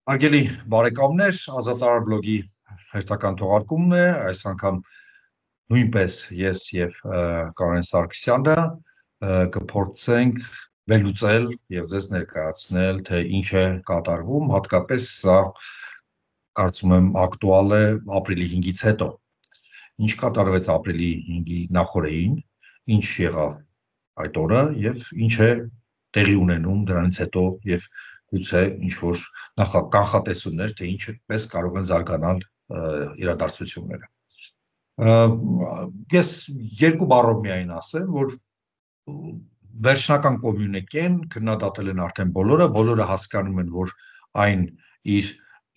Արգելի բարեկամներ, Ազատարար բլոգի հերթական թողարկումն է, այս անգամ նույնպես ես եւ Կարեն Սարգսյանը կփորձենք վերլուծել եւ ձեզ ներկայացնել, թե ինչ է կատարվում, հատկապես սա կարծում եմ ակտուալ է ապրիլի 5-ից հետո։ Ինչ կատարվեց ապրիլի 5-ի նախօրեին, ինչ եղավ այդ օրը եւ ինչ է տեղի ունենում դրանից հետո եւ գուցե ինչ-որ կանխատեսումներ, թե ինչպես կարող են զարգանալ իրադարձությունները։ Ես երկու բառով միայն ասեմ, որ վերջնական կոմյունիկեն քննադատել են արդեն բոլորը հասկանում են, որ այն իր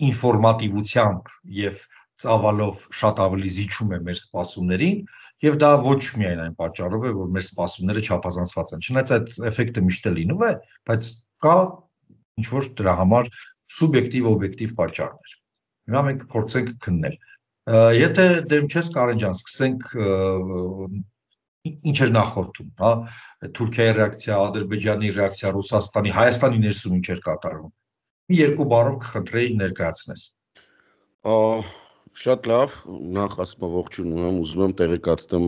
ինֆորմատիվությամբ եւ ծավալով շատ ավելի զիջում է մեր սպասումներին, եւ դա ոչ միայն այն պատճառով է, որ մեր սպասումները չափազանցված են։ Չնայած այդ էֆեկտը միշտ է լինում է, բայց կա ինչ-որ դրա համար սուբյեկտիվ, օբյեկտիվ պատճառներ։ Հիմա մենք փորձենք քննել։ Եթե դեմ չես, Կարեն ջան, սկսենք ինչ էր նախորդում, հա, Թուրքիայի ռեակցիա, Ադրբեջանի ռեակցիա, Ռուսաստանի, Հայաստանի ներսում ինչ էր կատարվում։ Մի երկու բառով կխնդրեի ներկայացնես։ Շատ լավ, նախ ասում ողջունում եմ, ուզում եմ տեղեկացնեմ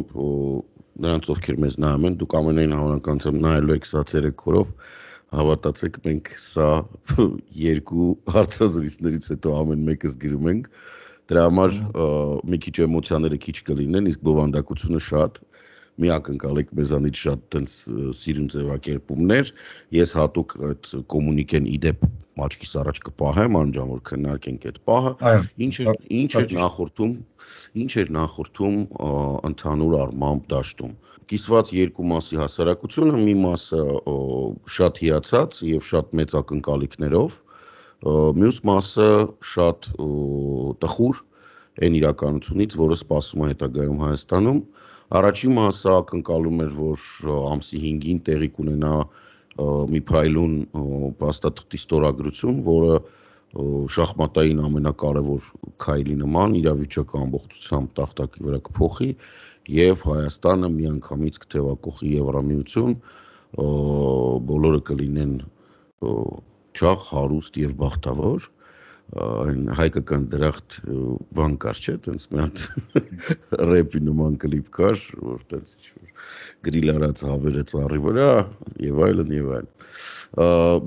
նրանց, ովքեր մեզ նայում են, դուք ամենայն հավանականությամբ նայելու եք սա ցերեկորով, հավատացեք, մենք սա երկու հարցազրույցներից հետո ամեն մեկս գրում ենք, դրա համար մի քիչ էմոցիաները քիչ կլինեն, իսկ բովանդակությունը շատ, մի ակնկալեք մեզանից շատ տենց սիրուն ձևակերպումներ, ես հատուկ այդ կոմունիկեն իդեպ աչքիս առաջ կպահեմ, անջան որ քննարկենք այդ պահը, ինչ էր նախորդում ընդհանուր առմամբ դաշտում։ Կիսված երկու մասի հասարակությունը, մի մասը շատ հիացած եւ շատ մեծ ակնկալիքներով, մյուս մասը շատ տխուր այն իրականությունից, որը սպասում է հետագայում Հայաստանում։ Առաջին մասը ակնկալում էր, որ ամսի 5-ին տեղի կունենա մի փայլուն փաստաթղթի ստորագրություն, որը շախմատային ամենակարևոր քայլի նման իրավիճակը ամբողջությամբ տախտակի վրա կփոխի եւ Հայաստանը միանգամից կթեւակոխի Եվրամիություն, բոլորը կլինեն չաղ, հարուստ եւ բախտավոր, այն հայկական դրախտ բան կար, չէ՞, տենց մի հատ ռեպի նման կլիպ կար, որ տենց գրիլ արած հավերը ծառի վրա եւ այլն եւ այլն։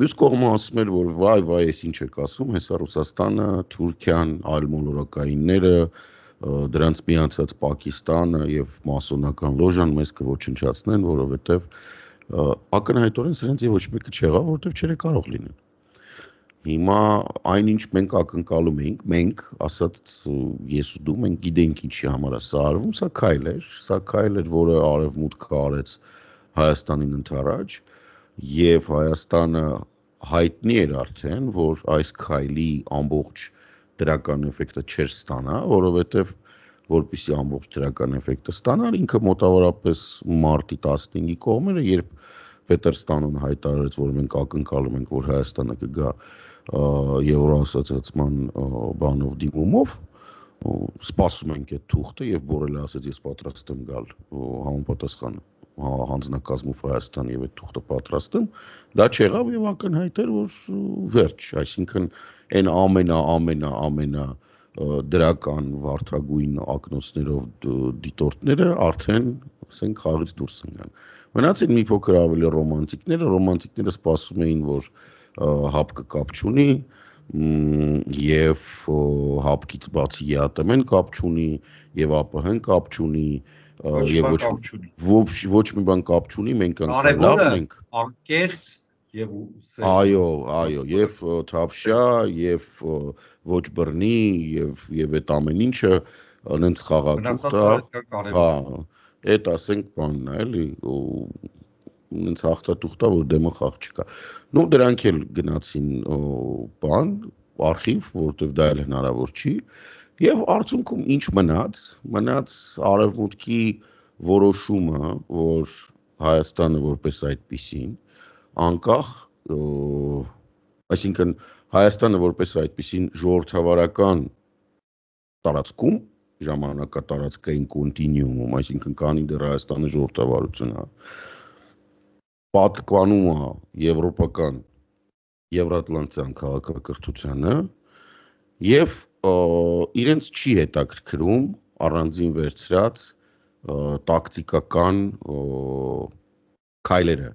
Մյուս կողմը ասում էր, որ վայ, ես ինչ եք ասում, հեսա Ռուսաստանը, Թուրքիան, այլ մոլորակայինները, դրանց միացած Պակիստանը եւ մասոնական լոժան մեզ կոչնչացնեն, որովհետեւ ակնհայտորեն սրանց ոչ մեկը չեղավ, որովհետեւ չէր կարող լինել։ Հիմա այնինչ մենք ակնկալում էինք, մենք, ասած ես ու դու, մենք գիտենք ինչի համար է սա արվում, սա քայլ էր, որը արևմուտքը արեց Հայաստանին ընդառաջ, եւ Հայաստանը հայտնի էր արդեն, որ այս քայլի ամբողջ դրական էֆեկտը չէր ստանա, որովհետեւ որպեսզի ամբողջ դրական էֆեկտը ստանար, ինքը մոտավորապես մարտի 15-ի կողմերը, երբ Պետերստանն հայտարարեց, որ մենք ակնկալում ենք, որ Հայաստանը կգա Եվրոասոցիացիան բանով դիմումով, սպասում ենք այդ թուղթը եւ Բորելը ասեց ես պատրաստ եմ գալ համապատասխան հանձնակազմով Հայաստան եւ այդ թուղթը պատրաստ եմ, դա չեղավ եւ ակնհայտ էր, որ վերջ, այսինքն այն ամենա դրական վարդագույն ակնոցներով դիտորդները արդեն, ասենք, խաղից դուրս ընկան։ Մնացին մի փոքր ավելի ռոմանտիկները սպասում էին, որ հապկը կապ չունի եւ հապկից բացի ԵԱՏՄ-ն կապ չունի եւ ԱՊՀ-ն կապ չունի եւ ոչ մի բան կապ չունի, մենք լավ ենք, անկեղծ եւ այո, եւ թավշյա եւ ոչ բռնի եւ այդ ամեն ինչը նենց խաղաղ է, հա, այդ ասենք բանն է, էլի, նենց հաղթատուղթա, որ դեմը խաղ չկա։ Ну դրանք էլ գնացին բան, արխիվ, որովհետև դա էլ հնարավոր չի, եւ արդյունքում ինչ մնաց արևմուտքի որոշումը, որ Հայաստանը որպես այդպիսին անկախ, այսինքն Հայաստանը որպես այդպիսին ժողովրդավարական տարածքում, ժամանակատարածքային կոնտինուումում, այսինքն կանի դեռ Հայաստանի ժողովրդավարությունը, պատկանում է եվրոպական Եվրատլանտյան քաղաքակրթությանը եւ իրենց չի հետաքրքրում առանձին վերցրած տակտիկական քայլերը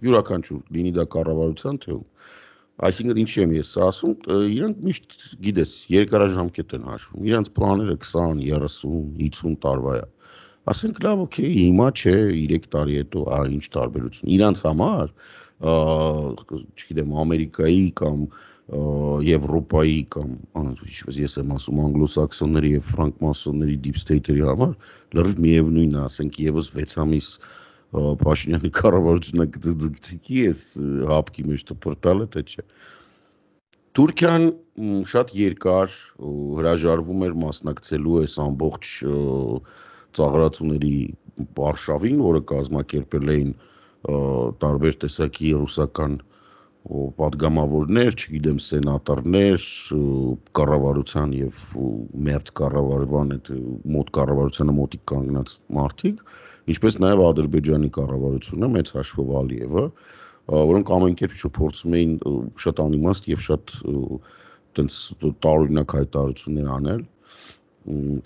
յուրաքանչյուր լինի դա կառավարության թե այսինքն ինչի եմ ես ասում իրանք միշտ գիտես երկարաժամկետ են հաշվում իրանք պլանները 20, 30, 50 տարվա է ասենք լավ օքեյ հիմա չէ 3 տարի հետո ինչ տարբերություն իրանք համար չգիտեմ Ամերիկայի կամ Եվրոպայի կամ ինչպես ես եմ ասում անգլոսաքսոնների եւ ֆրանկմասոնների deep state-երի համար լրիվ միևնույնն է ասենք եւս 6 ամիս Փաշինյանի կառավարությունը գծիկի էս հապկի մեջ դպրտալը թե չէ Թուրքիան շատ երկար հրաժարվում էր մասնակցելու այս ամբողջ ծաղրացուների արշավին, որը կազմակերպել էին տարբեր տեսակի ռուսական պատգամավորներ, չգիտեմ, սենատորներ, կառավարության եւ մերձ կառավարման այդ մոտ կառավարությանը մոտիկ կանգնած մարդիկ, ինչպես նաեւ Ադրբեջանի կառավարությունը մեծ հաշվով Ալիևը, որոնք ամեն կերպ փորձում էին շատ անիմաստ եւ շատ տենց տարօրինակ հայտարարություններ անել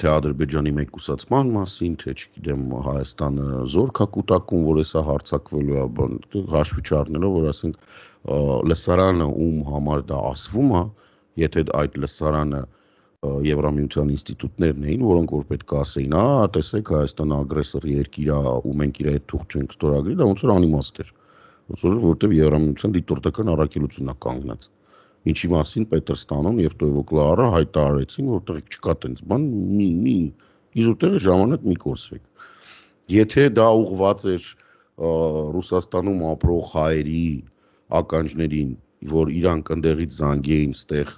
թե Ադրբեջանի մեկուսացման մասին, թե չգիտեմ Հայաստանը զորք է կուտակում, որ էսա հարձակվելու է, բան հաշվի չառնելով, որ ասենք լսարանը ում համար դա ասվում է, եթե այդ լսարանը Եվրամիության ինստիտուտներն էին, որոնք որ պետք է ասեին, տեսեք Հայաստանը ագրեսոր երկիր է, ու մենք իր հետ թուղթ չենք ստորագրի, դա ոնց որ անիմաստ էր, որովհետև Եվրամիության դիտորդական առաքելությունն է կանգնած։ Ինչի մասին Պետրստանում եւ Տոյվոկլարը հայտարարեցին, որտեղ չկա տենց բան, մի իզուտերը ժամանակ մի կորսվեք։ Եթե դա ուղղված էր Ռուսաստանում ապրող հայերի ականջներին, որ իրանք ընդեղից զանգեին ստեղ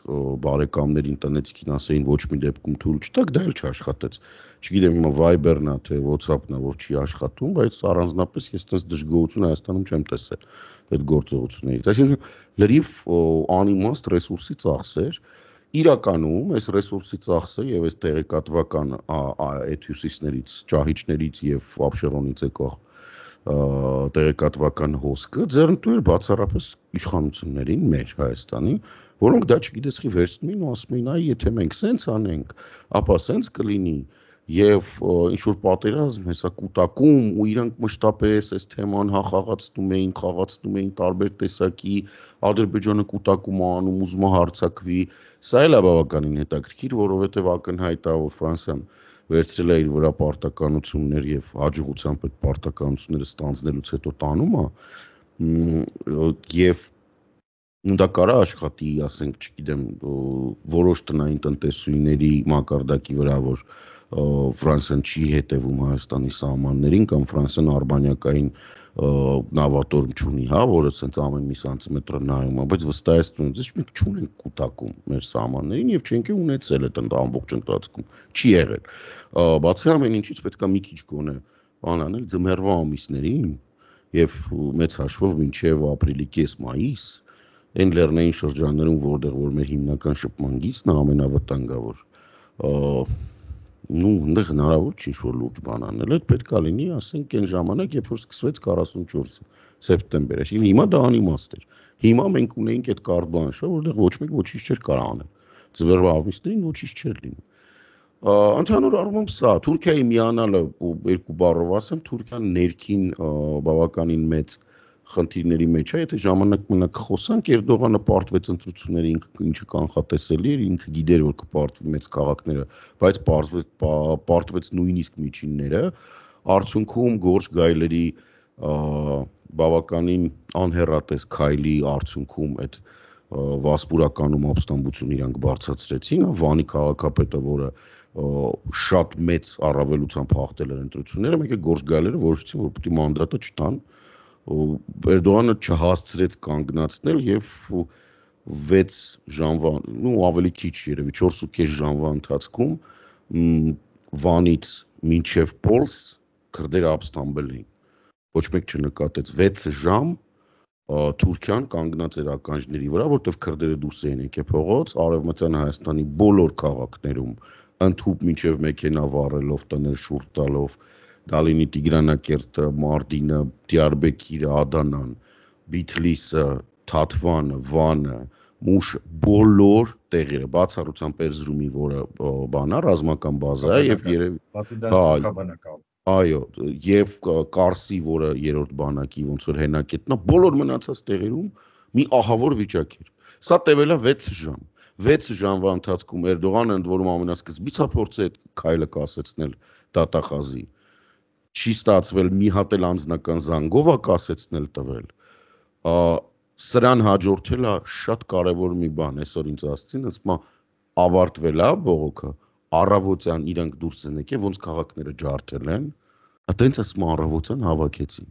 բարեկամներին տնեցիկին ասեին ոչ մի դեպքում թույլ չտաք, դա էլ չաշխատեց։ Չգիտեմ հիմա Viber-ն է թե WhatsApp-ն է, որ չի աշխատում, բայց առանձնապես ես տես դժգոհություն Հայաստանում չեմ տեսել այդ գործողություններից։ Այսինքն լրիվ անիմաստ ռեսուրսի ծախսեր իրականում այս ռեսուրսի ծախսը եւ այս տեղեկատվական այդ հյուսիսներից, ճահիճներից եւ Աբշերոնից եկող տեղեկատվական հոսքը ձեռնտու էր բացառապես իշխանություններին մեր Հայաստանի, որոնք դա չգիտես խի վերցնում էին ու ասում էին, այ եթե մենք սենց անենք, ապա սենց կլինի եւ ինչ որ պատերազմ հեսա կուտակում ու իրանք մշտապես այս թեման խաղացնում էին տարբեր տեսակի Ադրբեջանը կուտակում անում ուզում է հարձակվի սա էլ է բավականին հետաքրքիր որովհետեւ ակնհայտ է որ Ֆրանսիան վերցրել է իր վրա պարտականություններ եւ հաջողությամբ այդ պարտականությունները ստանձնելուց հետո տանում է եւ դա կարա աշխատի, ասենք, չգիտեմ, որոշ տնային տնտեսուհիների մակարդակի վրա, որ Ֆրանսիան չի հետևում Հայաստանի սահմաններին կամ Ֆրանսիան արբանյակային նավատորմ չունի, հա, որը ցենց ամեն մի սանտիմետր նայում է, բայց վստահեցնում եմ, մենք չունենք կուտակում մեր սահմաններին եւ չենք ունեցել այդ ամբողջ ընթացքում, չի եղել։ Բացի ամեն ինչից պետք է մի քիչ գոնե բան անել ձմեռվա ամիսներին եւ մեծ հաշվով մինչեւ ապրիլի կես-մայիս այն լեռնային շրջաններում, որտեղ որ մեր հիմնական շփման գիծն է ամենավտանգավոր, այնտեղ հնարավոր չի ինչ-որ լուրջ բան անել, այդ պետք է լինի, ասենք, այն ժամանակ, երբ որ սկսվեց 44 սեպտեմբերը, այսինքն հիմա դա անիմաստ էր։ Հիմա մենք ունեինք այդ կարտ բլանշը, որտեղ ոչ մեկ ոչինչ չէր կարող անել։ Ձմեռվա ամիսներին ոչինչ չէր լինում։ Ընդհանուր առմամբ սա Թուրքիայի միանալը երկու բառով ասեմ, Թուրքիան ներքին բավականին մեծ խնդիրների մեջ է, եթե ժամանակ մնաք խոսանք, Էրդողանը պարտվեց ընտրությունների ինչը կանխատեսելի էր, ինքը գիտեր, որ կպարտվի մեծ քաղաքները, բայց պարտվեց նույնիսկ միջինները, արդյունքում Գորշ գայլերի բավականին անհեռատես քայլի արդյունքում այդ վասպուրականում ապստամբություն իրանք բարձրացրեցին, Վանի քաղաքապետը, որը շատ մեծ առավելությամբ հաղթել էր ընտրությունները, մեկ է Գորշ գայլերը որոշեցին, որ պետք է մանդատը չտան Էրդողանը չհասցրեց կանգնացնել եւ 6 ժամվա, ավելի քիչ երևի 4.5 ժամվա ընթացքում Վանից մինչև Պոլս քրդերը ապստամբել էին։ Ոչ մեկ չնկատեց 6 ժամ Թուրքիան կանգնած էր ականջների վրա, որտեղ քրդերը դուրս էին եկել փողոց, արևմտյան Հայաստանի բոլոր քաղաքներում ընդհուպ մինչև մեքենա վառելով, տներ շուրջ տալով Դալինի Տիգրանակերտը, Մարտինը, Դիարբեկիրը, Ադանան, Բիթլիսը, Թաթվանը, Վանը, մուշ բոլոր տեղերը, բացառությամբ Էրզրումի, որը բանա, ռազմական բազա է եւ երևի այո, եւ Կարսի, որը երրորդ բանակի ոնց որ հենակետն է, բոլոր մնացած տեղերում մի ահավոր վիճակ էր։ Սա տևել է 6 ժամ։ 6 ժամվա ընթացքում Էրդողանը ընդ որում ամենասկզբից է փորձել այդ քայլը կասեցնել դատախազի։ Չի ստացվել, մի հատ էլ անձնական զանգով է կասեցնել տվել։ Սրան հաջորդել է շատ կարևոր մի բան, այսօր ինձ ասցին, ասում է ավարտվել է բողոքը, առավոտյան իրանք դուրս են եկել, ոնց քաղաքները ջարդել են, այտենց ասում առավոտյան հավաքեցին։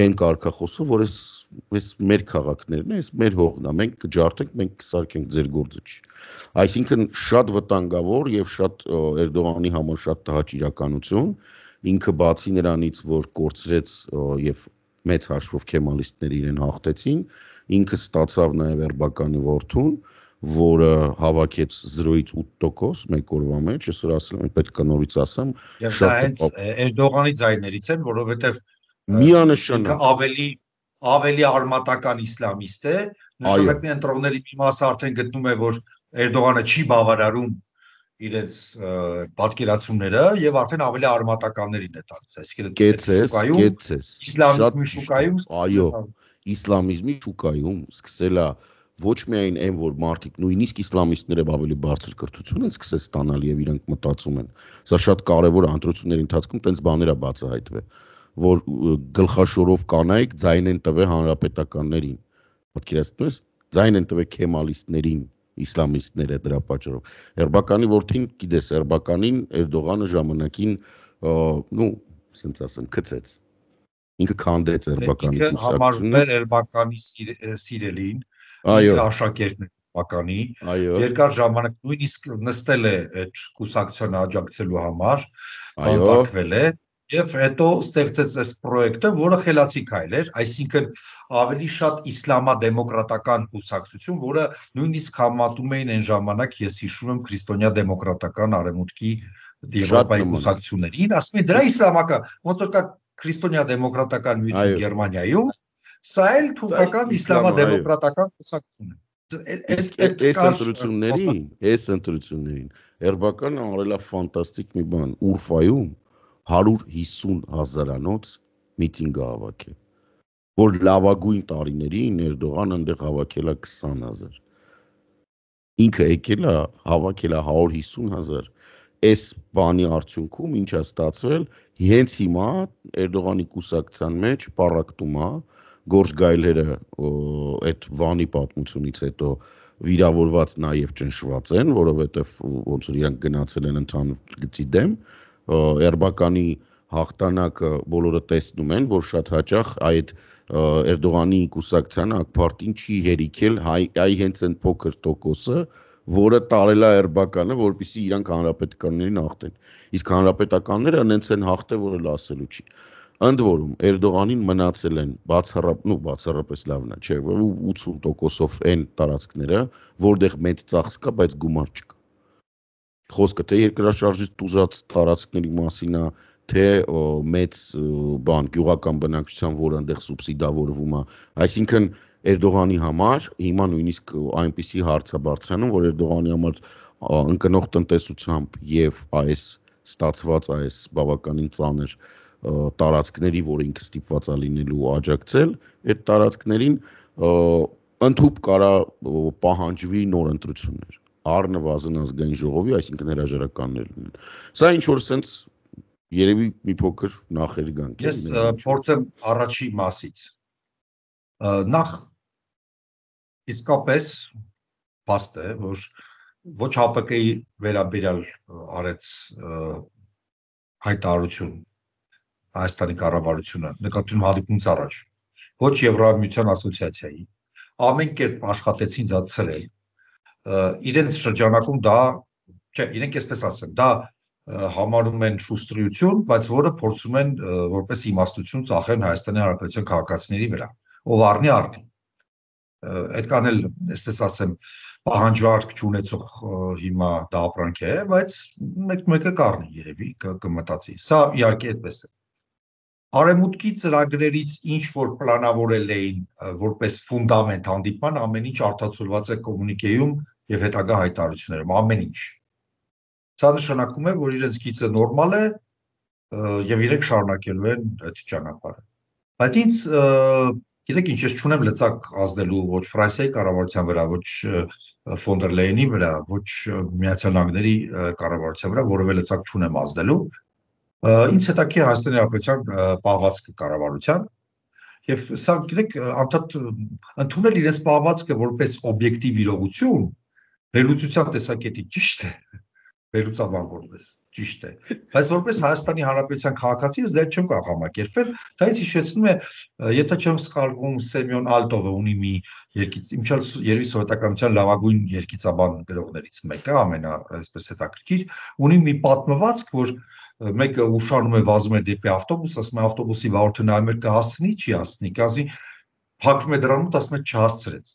Այն կարգախոսը, որ այս մեր քաղաքներն է, այս մեր հողն է, մենք կջարդենք, մենք կսարքենք, ձեր գործը չի։ Այսինքն շատ վտանգավոր եւ շատ Էրդողանի համար շատ տհաճ իրականություն, ինքը բացի նրանից, որ կորցրեց եւ մեծ հաշվով քեմալիստները իրեն հաղթեցին, ինքը ստացավ նաեւ Էրբականի որդուն, որը հավաքեց 0-ից 8% մեկ օրվա մեջ, այսօր ասել եմ, պետք է նորից ասեմ, շատ Էրդողանի ձայներից են, որովհետեւ միանշանակ ավելի արմատական իսլամիստ է, նշանակնի ընտրողների մի մասը արդեն գտնում է, որ Էրդողանը չի բավարարում իրենց պատկերացումները եւ արդեն ավելի արմատականներին է տալիս, այսինքն իսլամիզմի շուկայում, այո, իսլամիզմի շուկայում սկսել է ոչ միայն այն, որ մարդիկ նույնիսկ իսլամիստները ավելի բարձր կրթություն են սկսել ստանալ եւ իրանք մտածում են։ Սա շատ կարեւոր է, ընտրությունների ընթացքում տենց բաներ է բացահայտվել, որ գլխաշորով կանայք ձայն են տվել հանրապետականներին։ Պատկերացնում ես, ձայն են տվել քեմալիստներին, իսլամիստները դրա պատճառով։ Էրբականի որդին, գիտես, Էրբականին Էրդողանը ժամանակին, ասենց ասեմ, քցեց։ Ինքը քանդեց Էրբականի կուսակցությունը։ Համարվում էր Էրբականի սիրելին, ինքը աշակերտն է Էրբականի, երկար ժամանակ նույնիսկ նստել է այդ կուսակցությանը աջակցելու համար, բանտարկվել է եւ հետո ստեղծեց այս պրոյեկտը, որը խելացի քայլ էր, այսինքն ավելի շատ իսլամադեմոկրատական կուսակցություն, որը նույնիսկ համատում էին այն ժամանակ, ես հիշում եմ, քրիստոնյա դեմոկրատական արևմուտքի Եվրոպայի կուսակցություններին, ասում են դրա իսլամական, ոնց որ կա քրիստոնյա դեմոկրատական միություն Գերմանիայում, սա էլ թուրքական իսլամադեմոկրատական կուսակցություն է։ Այս ընտրություններին Էրբականը արել է ֆանտաստիկ մի բան, Ուրֆայում 150,000-անոց միտինգ հավաքել, որ լավագույն տարիներին Էրդողանը այնտեղ հավաքել է 20,000։ Ինքը եկել է, հավաքել է 150,000։ Այս բանի արդյունքում ինչ է ստացվել, հենց հիմա Էրդողանի կուսակցության մեջ պառակտում է, Գորժ Գայլերը այդ Վանի պատմությունից հետո վիրավորված նաև ճնշված են, որովհետև ոնց որ իրանք գնացել են ընդհանուր գծի դեմ, Էրբականի հաղթանակը բոլորը տեսնում են, որ շատ հաճախ այդ Էրդողանի կուսակցությանը ԱԿ-ին չի հերիքել այ հենց այն փոքր տոկոսը, որը տարել է Էրբականը, որպեսզի իրանք հանրապետականներին հաղթեն։ Իսկ հանրապետականները հենց են հաղթել, որը լասելու չի։ Ընդ որում Էրդողանին մնացել են բացառապես լավն է, չէ, 80%-ով այն տարածքները, որտեղ մեծ ծախս կա, բայց գումար չկա։ Խոսքը թե երկրաշարժից տուժած տարածքների մասին է, թե մեծ բան գյուղական բնակչության, որը այնտեղ սուբսիդավորվում է, այսինքն Էրդողանի համար հիմա նույնիսկ այնպիսի հարց է բարձրանում, որ Էրդողանի համար ընկնող տնտեսությամբ եւ այս ստացված այս բավականին ծանր տարածքների, որ ինքը ստիպված է լինելու աջակցել, այդ տարածքներին ընդհուպ կարա պահանջվի նոր ընտրություններ, առնվազն ազգային ժողովի, այսինքն հրաժարականներ լինեն։ Սա ինչ որ sense երևի մի փոքր նախեր գանք։ Ես փորձեմ առաջի մասից։ Նախ իսկապես փաստ է, որ ոչ ՀԱՊԿ-ի վերաբերյալ արեց հայտարարություն Հայաստանի կառավարությունը, նկատի հանդիպումից առաջ, ոչ Եվրամիության ասոցիացիայի, ամեն կերպ աշխատեցին դա ցրել, իրենց շրջանակում դա, չէ, իրենք այսպես ասեմ, դա համարում են շուստրություն, բայց որը փորձում են որպես իմաստություն ծախեն Հայաստանի Հանրապետության քաղաքացիների վրա, ով առնի առնի։ Այդքան էլ, այսպես ասեմ, պահանջարկ չունեցող հիմա դա ապրանք է, բայց մեկը կառնի երևի կմտածի։ Սա իհարկե այդպես է։ Արևմուտքի ծրագրերից ինչ որ պլանավորել էին որպես ֆունդամենտ հանդիպման, ամեն ինչ արտացոլված է կոմունիկեում եւ հետագա հայտարարություններում, ամեն ինչ։ Սա նշանակում է, որ իրենց գիծը նորմալ է եւ իրենք շարունակելու են այդ ճանապարհը։ Բայց ինձ գիտեք ինչ, ես չունեմ լծակ ազդելու ոչ Ֆրանսիայի կառավարության վրա, ոչ ֆոն դեր Լեյենի վրա, ոչ Միացյալ Նահանգների կառավարության վրա, որևէ լծակ չունեմ ազդելու։ Ինձ հետաքրքիր է Հայաստանի Հանրապետության պահվածքը կառավարության եւ սա գիտեք անդադ ընդունել իրենց պահվածքը որպես օբյեկտիվ իրողություն վերլուծության տեսակետից ճիշտ է, վերլուծաբան որպես ճիշտ է, բայց որպես Հայաստանի Հանրապետության քաղաքացի ես դա չեմ կարող համակերպել, դա ինձ հիշեցնում է, եթե չեմ սխալվում, Սեմյոն Ալտովը ունի մի երևի սովետականության լավագույն երգիծաբան գրողներից մեկը, այսպես հետաքրքիր, ունի մի պատմվածք, որ մեկը ուշանում է վազում է դեպի ավտոբուս, ասում է ավտոբուսի վարորդը նայում է կհասցնի, չի հասցնի, կազի փակվում է դրան մոտ, ասում է չհասցրեց։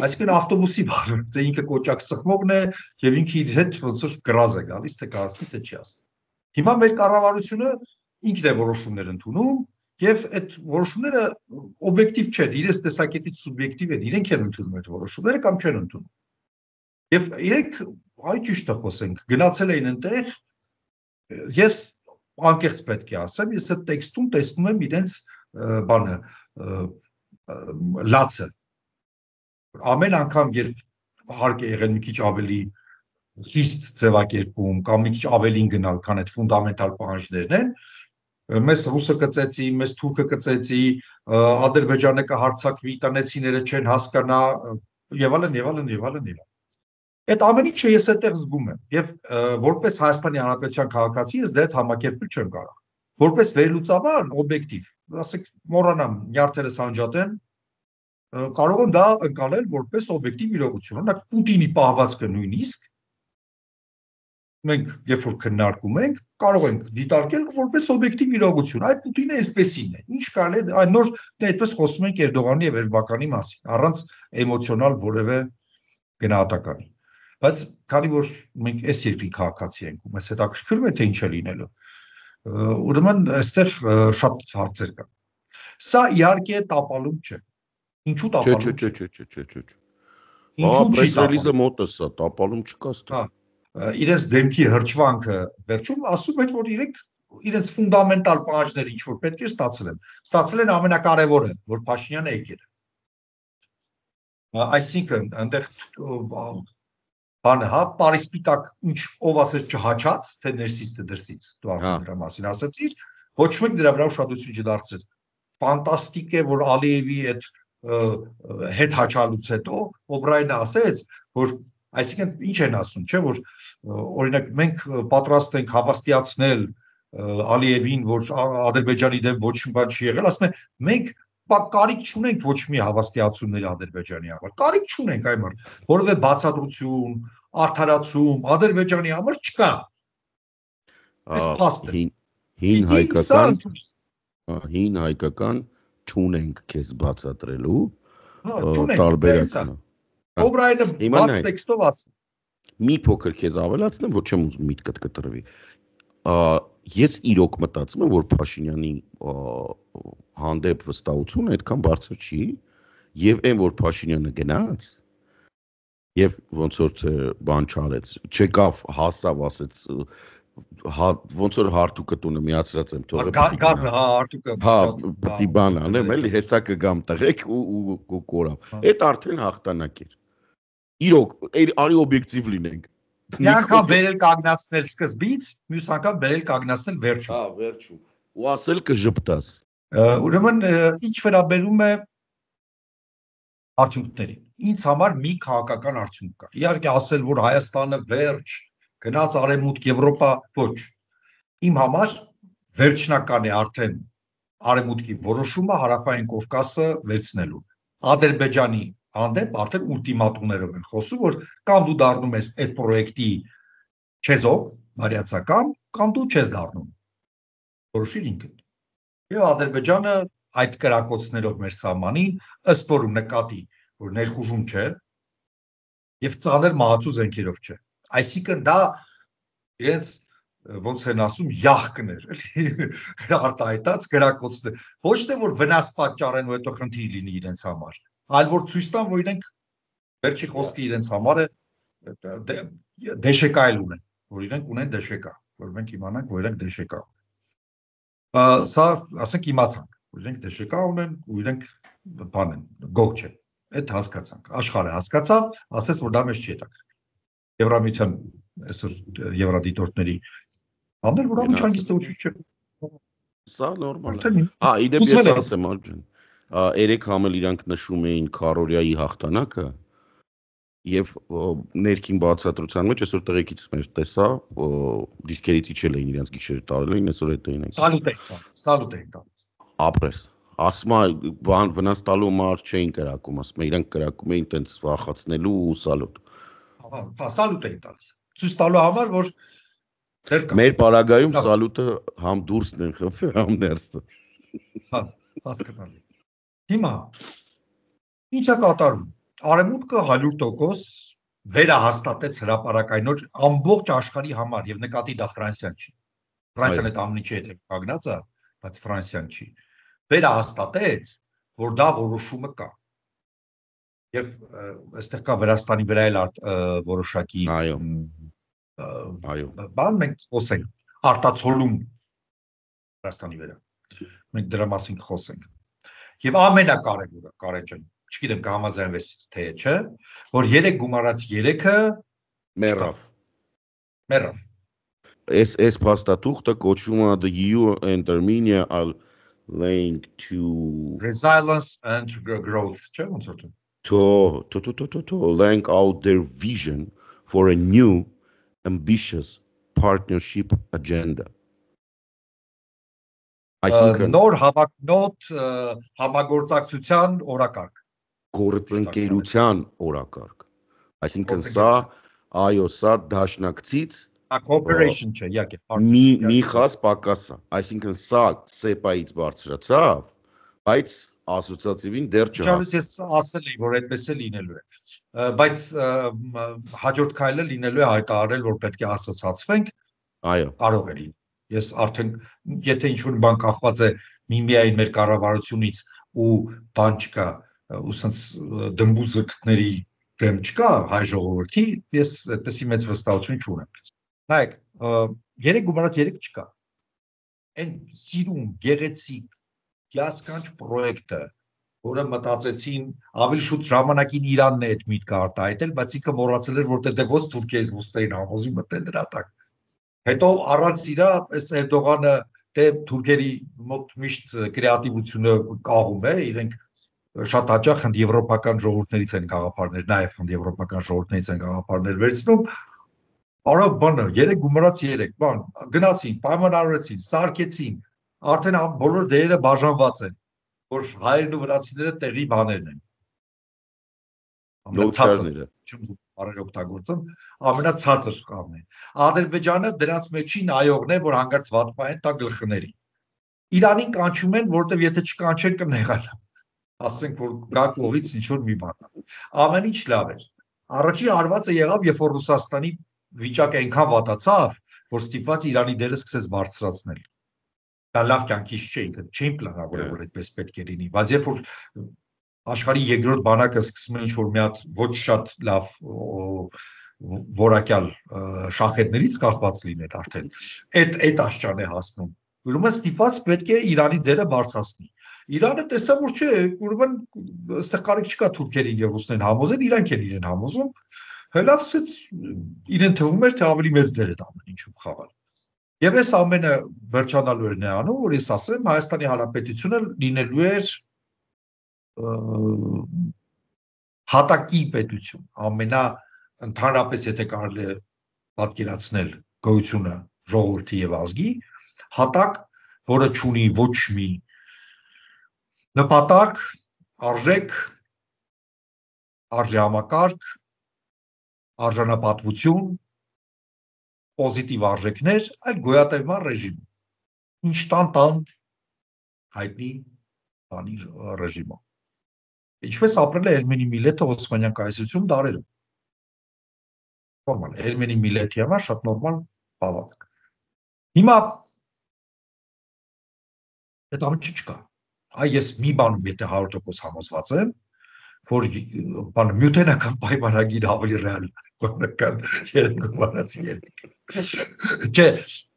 Այսինքն ավտոբուսի վարորդը ինքը կոճակ սխմողն է եւ ինքը իր հետ ոնց որ գրազ է գալիս, թե կհասցնի, թե չի հասցնի։ Հիմա մեր կառավարությունը ինքն է որոշումներ ընդունում եւ այդ որոշումները օբյեկտիվ չեն, իրենց տեսակետից սուբյեկտիվ են, իրենք են ընդունում այդ որոշումները կամ չեն ընդունում։ Եվ իրենք, այ ճիշտ է խոսենք, գնացել էին այնտեղ, ես անկեղծ պետք է ասեմ, ես այդ տեքստում տեսնում եմ իրենց բանը լացը։ Ամեն անգամ, երբ հարկ է եղել մի քիչ ավելի խիստ ձևակերպում կամ մի քիչ ավելին գնալ, քան այդ ֆունդամենտալ պահանջներն են, մեզ ռուսը կծեցի, մեզ թուրքը կծեցի, Ադրբեջանը կհարձակվի, տնեցիները չեն հասկանա եւ այլն եւ այլն եւ այլն եւ այլն։ Այդ ամեն ինչը ես այդտեղ զգում եմ եւ որպես Հայաստանի Հանրապետության քաղաքացի ես դա համակերպել չեմ կարող։ Որպես վերլուծաբան օբյեկտիվ, ասեք մոռանամ նյարդերը սանջատեմ, կարող եմ դա ընկալել որպես օբյեկտիվ իրողություն։ Օրինակ Պուտինի պահվածքը նույնիսկ մենք երբ որ քննարկում ենք, կարող ենք դիտարկել որպես օբյեկտիվ իրողություն։ Այ Պուտինը այսպեսին է։ Ինչ կարելի է այն նոր դե այդպես խոսում ենք Էրդողանի եւ Էրբականի մասին, առանց էմոցիոնալ որևէ գնահատականի։ Բայց քանի որ մենք այս երկրի քաղաքացի ենք ու մեզ հետաքրքրում է թե ինչ է լինելու, ուրեմն այստեղ շատ հարցեր կան։ Սա իհարկե տապալում չէ։ Ինչու տապալում չէ։ Չէ։ Ինչու չի ռելիզը մոտ է սա, տապալում չկա ստա։ Իրենց դեմքի հրճվանքը վերջում ասում են, որ իրենց ֆունդամենտալ պահանջները ինչ որ պետք է ստացել են։ Ստացել են ամենակարևորը, որ Փաշինյանը եկել է։ Այսինքն այնտեղ բանը, հա, Պարիսպիտակ ինչ ով ասեց չհաչած, թե ներսից թե դրսից, դու արդեն դրա մասին ասացիր, ոչ մեկ դրա վրա ուշադրություն չդարձրեց։ Ֆանտաստիկ է, որ Ալիևի այդ հետ հաչալուց հետո Օբրայանը ասեց, որ այսինքն ինչ են ասում, չէ, որ օրինակ մենք պատրաստ ենք հավաստիացնել Ալիևին, որ Ադրբեջանի դեմ ոչ մի բան չի եղել, ասում են մենք կարիք չունենք ոչ մի հավաստիացումների Ադրբեջանի համար։ Կարիք չունենք այմար, որովհետեւ բացատրություն, արդարացում Ադրբեջանի համար չկա։ Այս փաստ է։ Հին հայկական չունենք քեզ բացատրելու տարբերակն։ Օբրայանը բաց տեքստով ասում։ Մի փոքր քեզ ավելացնեմ, որ չեմ ուզում միտքդ կտրվի։ Ես իրոք մտածում եմ, որ Փաշինյանի հանդեպ վստահությունը այդքան բարձր չի, եւ այն որ Փաշինյանը գնաց եւ ոնց որ թե բան չարեց, չեկավ, հասավ, ասեց, ոնց որ հարթուկը տունը միացրած եմ թողել։ Գազը, հա, հարթուկը։ Հա, պիտի բան անեմ, էլի հեսա կգամ տղեկ ու կորավ։ Այդ արդեն հաղթանակ էր։ Իրոք, արի օբյեկտիվ լինենք։ Մի անգամ բերել կանգնացնել սկզբից, մյուս անգամ բերել կանգնացնել վերջում։ Հա, վերջում։ Ու ասել կժպտաս։ Ուրեմն ինչ վերաբերում է արդյունքներին։ Ինձ համար մի քաղաքական արդյունք կա։ Իհարկե ասել, որ Հայաստանը վերջ, գնաց արևմուտք, Եվրոպա, ոչ։ Իմ համար վերջնական է արդեն արևմուտքի որոշումը Հարավային Կովկասը վերցնելու։ Ադրբեջանի հանդեպ արդեն ուլտիմատումներով են խոսում, որ կամ դու դառնում ես այդ պրոյեկտի չեզոք, բարյացակամ, կամ դու չես դառնում։ Որոշիր ինքդ։ Եվ Ադրբեջանը այդ կրակոցներով մեր սահմանին ըստ որում նկատի, որ ներխուժում չէ եւ ծանր մահացու զենքերով չէ։ Այսինքն դա իրենց ոնց են ասում յախկներ, էլի արտահայտած գրակոծներ, ոչ թե որ վնաս պատճառեն ու հետո խնդիր լինի իրենց համար, այլ որ ցույց տան, որ իրենք վերջի խոսքը իրենց համար է դեշեկայել ունեն, որ իրենք ունեն դեշեկա, որ մենք իմանանք, որ իրենք դեշեկա ունեն։ Սա ասենք իմացանք, որ իրենք դեշեկա ունեն ու իրենք բան են, գող չեն։ Այդ հասկացանք, աշխարհը հասկացավ, ասեց, որ դա մեզ չի հետաքրքիր։ Եվրամիության այսօր եվրադիտորդների Անդեր որ ամի չանգիստություն չէ։ Սա նորմալ է։ Իդեպ ես ասեմ, Ալջան, 3 համել իրանք նշում էին Քարորիայի հաղթանակը եւ ներքին բացատրության մեջ այսօր տղեկից մեր տեսա, դիրքերից իջել էին իրանք գիշերը տարել էին, այսօր հետ էին։ Սալուտ էին տալիս։ Ապրես։ Ասма բան վնաս տալու համար չէին կրակում, ասում իրանք կրակում էին տենց վախացնելու ու սալուտ։ Հա, սալուտ էին տալիս։ Ցույց տալու համար, որ մեր պարագայում սալուտը համ դուրսն են խփել, համ ներսը։ Հա, հասկանալի։ Հիմա ի՞նչ է կատարվում։ Արևմուտքը 100% վերահաստատեց հրապարակայնոր ամբողջ աշխարհի համար եւ նկատի դա Ֆրանսիան չի։ Ֆրանսիան այդ ամենի չի հետ կանգնած է, բայց Ֆրանսիան չի։ Վերահաստատեց, որ դա որոշումը կա։ Եվ այստեղ կա Վրաստանի վրա էլ որոշակի բան մենք խոսենք արտացոլում Վրաստանի վրա։ Մենք դրա մասին խոսենք։ Եվ ամենակարևորը, Կարեն ջան, չգիտեմ կհամաձայնվես թե չէ, որ 3 գումարած 3-ը մեռավ։ Այս փաստաթուղթը կոչվում է The EU and Armenia are linked to resilience and growth, չէ՞ ոնց որ to lay out their vision for a new ambitious partnership agenda. Նոր հավակնոտ համագործակցության օրակարգ։ Գործընկերության օրակարգ։ Այսինքն սա դաշնակցից cooperation չէ, իհարկե։ Մի խաս պակասա։ Այսինքն սա SEPA-ից բարձրացավ, բայց ասոցիատիվին դեռ չհասավ։ Ես ասել էի, որ այդպես է լինելու է։ Բայց հաջորդ քայլը լինելու է հայտարարել, որ պետք է ասոցիացվենք։ Այո։ Կարող է լինել։ Ես արդեն եթե ինչ-որ բան կախված է միմիային մեր կառավարությունից ու բան չկա, ու սենց դմբուզկների դեմ չկա հայ ժողովրդի, ես այդպեսի մեծ վստահություն չունեմ։ Նայեք, 3 գումարած 3 չկա։ Այն սիրուն, գեղեցիկ, հիասքանչ պրոյեկտը, որը մտածեցին ավելի շուտ ժամանակին Իրանն է այդ միտքը արտահայտել, բայց ինքը մոռացել էր, որ դե ոնց թուրքերն ռուսներին համոզի մտնել դրա տակ։ Հետո առանց իրա այս Էրդողանը դե թուրքերի մոտ միշտ կրեատիվությունը կաղում է, իրենք շատ հաճախ եվրոպական ժողովուրդներից են գաղափարներ, նաև եվրոպական ժողովուրդներից են գաղափարներ վերցնում։ Արա բանը 3 գումարած 3 բան գնացին, պայմանավորեցին, սարքեցին, արդեն բոլոր դերերը բաժանված են, որ հայերն ու վրացիները տեղի բաներն են։ Նոթարները չեմ բարեր օգտագործում, ամենացածր կամն է։ Ադրբեջանը դրանց մեջին այողն է, որ հանգարց վատպային տա գլխների։ Իրանին կանչում են, որտեվ եթե չկանչեն կնեղանա։ Ասենք որ գա կողից ինչ որ մի բան։ Ամեն ինչ լավ էր։ Առաջի հարվածը եղավ, երբ որ Ռուսաստանի վիճակը այնքան վատացավ, որ ստիպված Իրանի դերը սկսեց բարձրացնել։ Դա լավ կյանքից չէ, ինքը չէին պլանավորել, որ այդպես պետք է լինի, բայց երբ որ աշխարհի երկրորդ բանակը սկսում է ինչ-որ մի հատ ոչ շատ լավ որակյալ շախետներից կախված լինել արդեն, այդ աշճան է հասնում։ Ուրեմն ստիպված պետք է Իրանի դերը բարձրացնի։ Իրանը տեսա որ չէ, ուրեմն այստեղ կարիք չկա թուրքերին եւ ռուսներին համոզել, իրանք են իրեն համոզում։ Հելավ սից իրեն թվում էր թե ավելի մեծ դեր է դա ամեն ինչում խաղալ։ Եվ այս ամենը վերջանալու էր նրանով, որ ես ասեմ, Հայաստանի Հանրապետությունը լինելու էր հատակի պետություն, ընդհանրապես եթե կարելի է պատկերացնել գոյությունը ժողովրդի եւ ազգի, հատակ, որը չունի ոչ մի նպատակ, արժեք, արժեհամակարգ, արժանապատվություն, պոզիտիվ արժեքներ, այլ գոյատևման ռեժիմ։ Ինչ տան հայտնի բանի ռեժիմով։ Ինչպես ապրել է Էրմենի միլետը Օսմանյան կայսրությունում դարերում։ Նորմալ, Էրմենի միլետի համար շատ նորմալ բավարար։ Հիմա այդ ամենը չկա։ Այ ես մի բանում եթե 100% համոզված եմ, որ բան միութենական պայմանագիր ավելի ռեալ կան երկու բանացի երկու։ Չէ,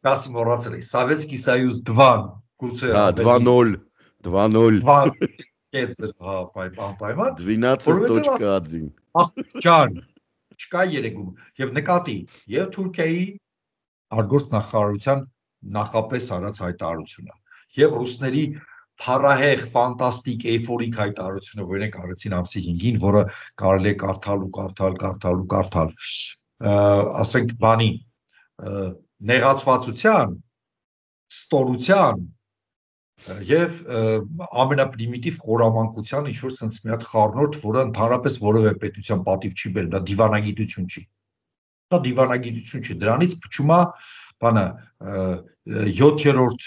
դասի մոռացել եմ, Սովետский Союз 2-ն գուցե Հա, 2-0, 2-0. Կեցր, հա, պայման, 12.1-ին։ աղջան, չկա երեգում, և նկատի, և Թուրքիայի արգործ նախարարության նախապես արած հայտարարությունը, և ռուսների փառահեղ, ֆանտաստիկ, էյֆորիկ հայտարարությունը, որ իրենք արեցին ամսի 5-ին, որը կարելի է կարդալ, ասենք բանի, նեղացվածության, ստորության և ամենապրիմիտիվ խորամանկության ինչ-որ սենց մի հատ խառնորդ, որը ընդհանրապես որևէ պետության պատիվ չի բերում, դա դիվանագիտություն չի։ Դա դիվանագիտություն չի, դրանից փչում է բանը 7-րդ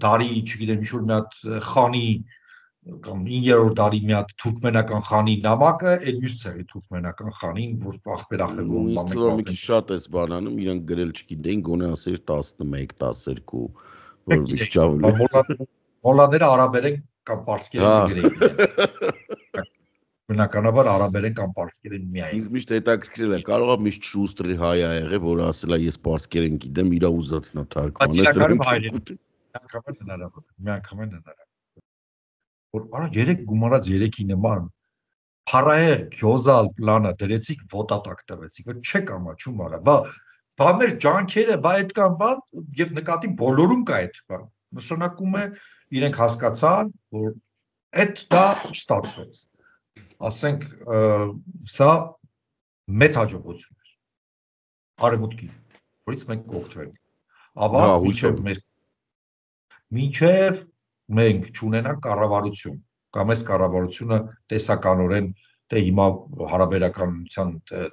դարի, չգիտեմ, ինչ-որ մի հատ խանի կամ 9-րդ դարի մի հատ թուրքմենական խանի նամակը, այն մյուս ցեղի թուրքմենական խանին, որ ախպերախելում Ինձ թվում է մի քիչ շատ էս բանանում, իրանք գրել չգիտեին, գոնե ասեր 11, 12, որ մի քիչ ավելի։ Մոլլաները արաբերեն կամ պարսկերեն կգրեին իրենց։ Բնականաբար արաբերեն կամ պարսկերեն միայն։ Ինձ միշտ հետաքրքրել է, կարող է միշտ շուստրի հայ ա եղել, որը ասել է ես պարսկերեն գիտեմ, իր ուզածն է թարգմանել։ Միանգամայն հնարավոր։ Որ արա 3 գումարած 3-ի նման փառահեղ գյոզալ պլանը դրեցիք ոտատակ տվեցիք, որ չեք ամաչում արա, բա մեր ջանքերը, բա այդ կան, բա եւ նկատի բոլորում կա այդ բան։ Նշանակում է իրենք հասկացան, որ այդ դա չստացվեց։ Ասենք սա մեծ հաջողություն էր արևմուտքի, որից մենք կօգտվենք։ Աբա մինչև մենք չունենանք կառավարություն, կամ այս կառավարությունը տեսականորեն, դե հիմա հարաբերականության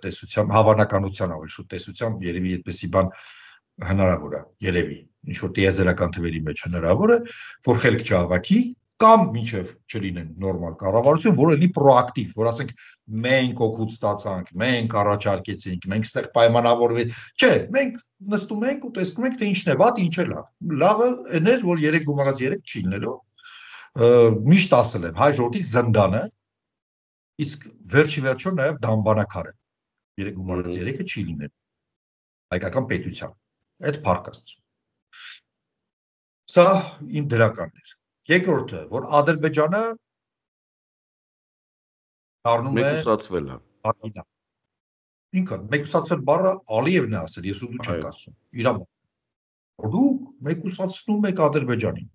տեսությամբ, հավանականության ավելի շուտ տեսությամբ երևի այդպեսի բան հնարավոր է, երևի, ինչ որ տիեզերական թվերի մեջ հնարավոր է, որ խելք չհավաքի, կամ մինչև չլինեն նորմալ կառավարություն, որը լինի պրոակտիվ, որ ասենք մենք օգուտ ստացանք, մենք առաջարկեցինք, մենք ստեղ պայմանավորվենք, չէ, մենք նստում ենք ու տեսնում ենք, թե ինչն է վատ, ինչ է լավ։ Լավը այն էր, որ 3 գումարած 3 չի լինելու։ Միշտ ասել եմ, հայ ժողովրդի զնդանը, իսկ վերջի վերջո նաև դամբանակարը 3 գումարած 3-ը չի լինելու հայկական պետության։ Այդ փառք Աստծո։ Սա իմ դրականն էր։ Երկրորդը, որ Ադրբեջանը դառնում է մեկուսացվել է։ Ինքը մեկուսացվել բառը Ալիևն է ասել, ես ու դու չենք ասում։ Իրա որ դու մեկուսացնում եք Ադրբեջանին։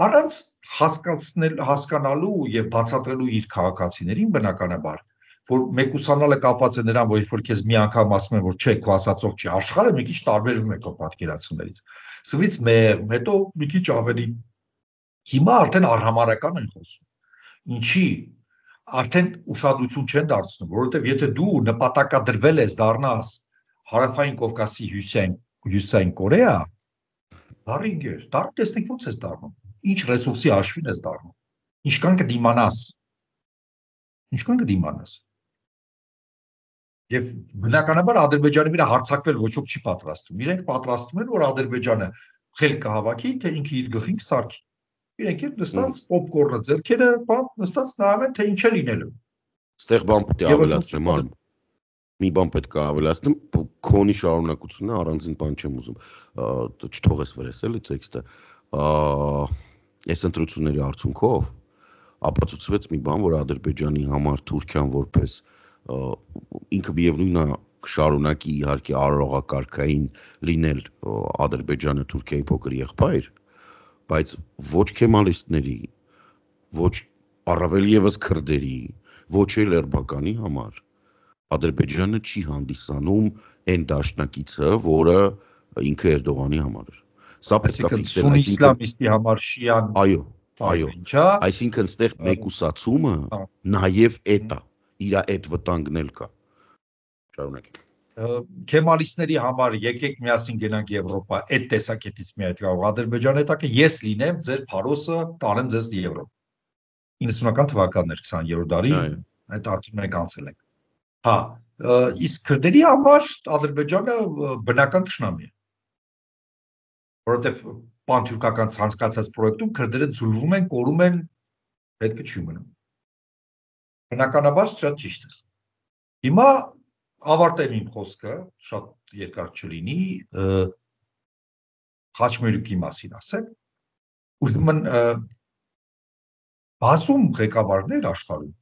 Առանց հասկանալու եւ բացատրելու իր քաղաքացիներին բնականաբար, որ մեկուսանալը կապված է նրան, որ երբ որ քեզ մի անգամ ասում են, որ չէ, քո ասածով չի, աշխարհը մի քիչ տարբերվում է քո պատկերացումներից։ Սվից հետո մի քիչ ավելի հիմա արդեն արհամարական են խոսում։ Ինչի արդեն ուշադրություն չեն դարձնում, որովհետև եթե դու նպատակադրվել ես դառնաս Հարավային Կովկասի հյուսային Կորեա, դարինգեր, տեսնեք ոնց ես դառնում, ինչ ռեսուրսի հաշվին ես դառնում, ինչքան կդիմանաս։ Եվ բնականաբար Ադրբեջանի վրա հարձակվել ոչ ոք չի պատրաստվում։ Իրենք պատրաստվում են, որ Ադրբեջանը խելք կհավաքի, թե ինքը իր գլխին կսարքի։ Իրենք էլ նստած պոպկորնը ձեռքերը, նստած նայում են, թե ինչ է լինելու։ Ստեղ բան պետք է ավելացնեմ, արմ։ Մի բան պետք է ավելացնեմ, քոնի շարունակությունը առանձին բան չեմ ուզում։ Չթողես վրես էլի տեքստը։ Այս ընտրությունների արդյունքով ապացուցվեց մի բան, որ Ադրբեջանի համար Թուրքիան որպես ինքը միևնույնն է կշարունակի իհարկե արարողակարգային լինել Ադրբեջանը Թուրքիայի փոքր եղբայր, բայց ոչ քեմալիստների, ոչ առավել եւս քրդերի, ոչ էլ էրբականի համար Ադրբեջանը չի հանդիսանում այն դաշնակիցը, որը ինքը Էրդողանի համար էր։ Սա պետք է ֆիքսել, այսինքն իսլամիստի համար շիան, այո, այսինքն ստեղ մեկուսացումը նաև էդ է, իր այդ վտանգն էլ կա։ Շարունակեք։ Քեմալիստների համար եկեք միասին գնանք Եվրոպա, այդ տեսակետից մի այդ կարող Ադրբեջանը հետա ես լինեմ ձեր փարոսը, տանեմ ձեզ Եվրոպա։ 90-ական թվականներ 20-րդ դարի այդ արդյունքը մենք անցել ենք։ Հա, իսկ քրդերի համար Ադրբեջանը բնական թշնամի է։ որովհետև պանթուրքական ցանկացած պրոյեկտում քրդերը ձուլվում են, կորում են, պետք չի մնում։ Բնականաբար շատ ճիշտ է։ Հիմա ավարտեմ իմ խոսքը, շատ երկար չլինի, խաչմերուկի մասին ասեմ, ուրեմն բազում ղեկավարներ աշխարհում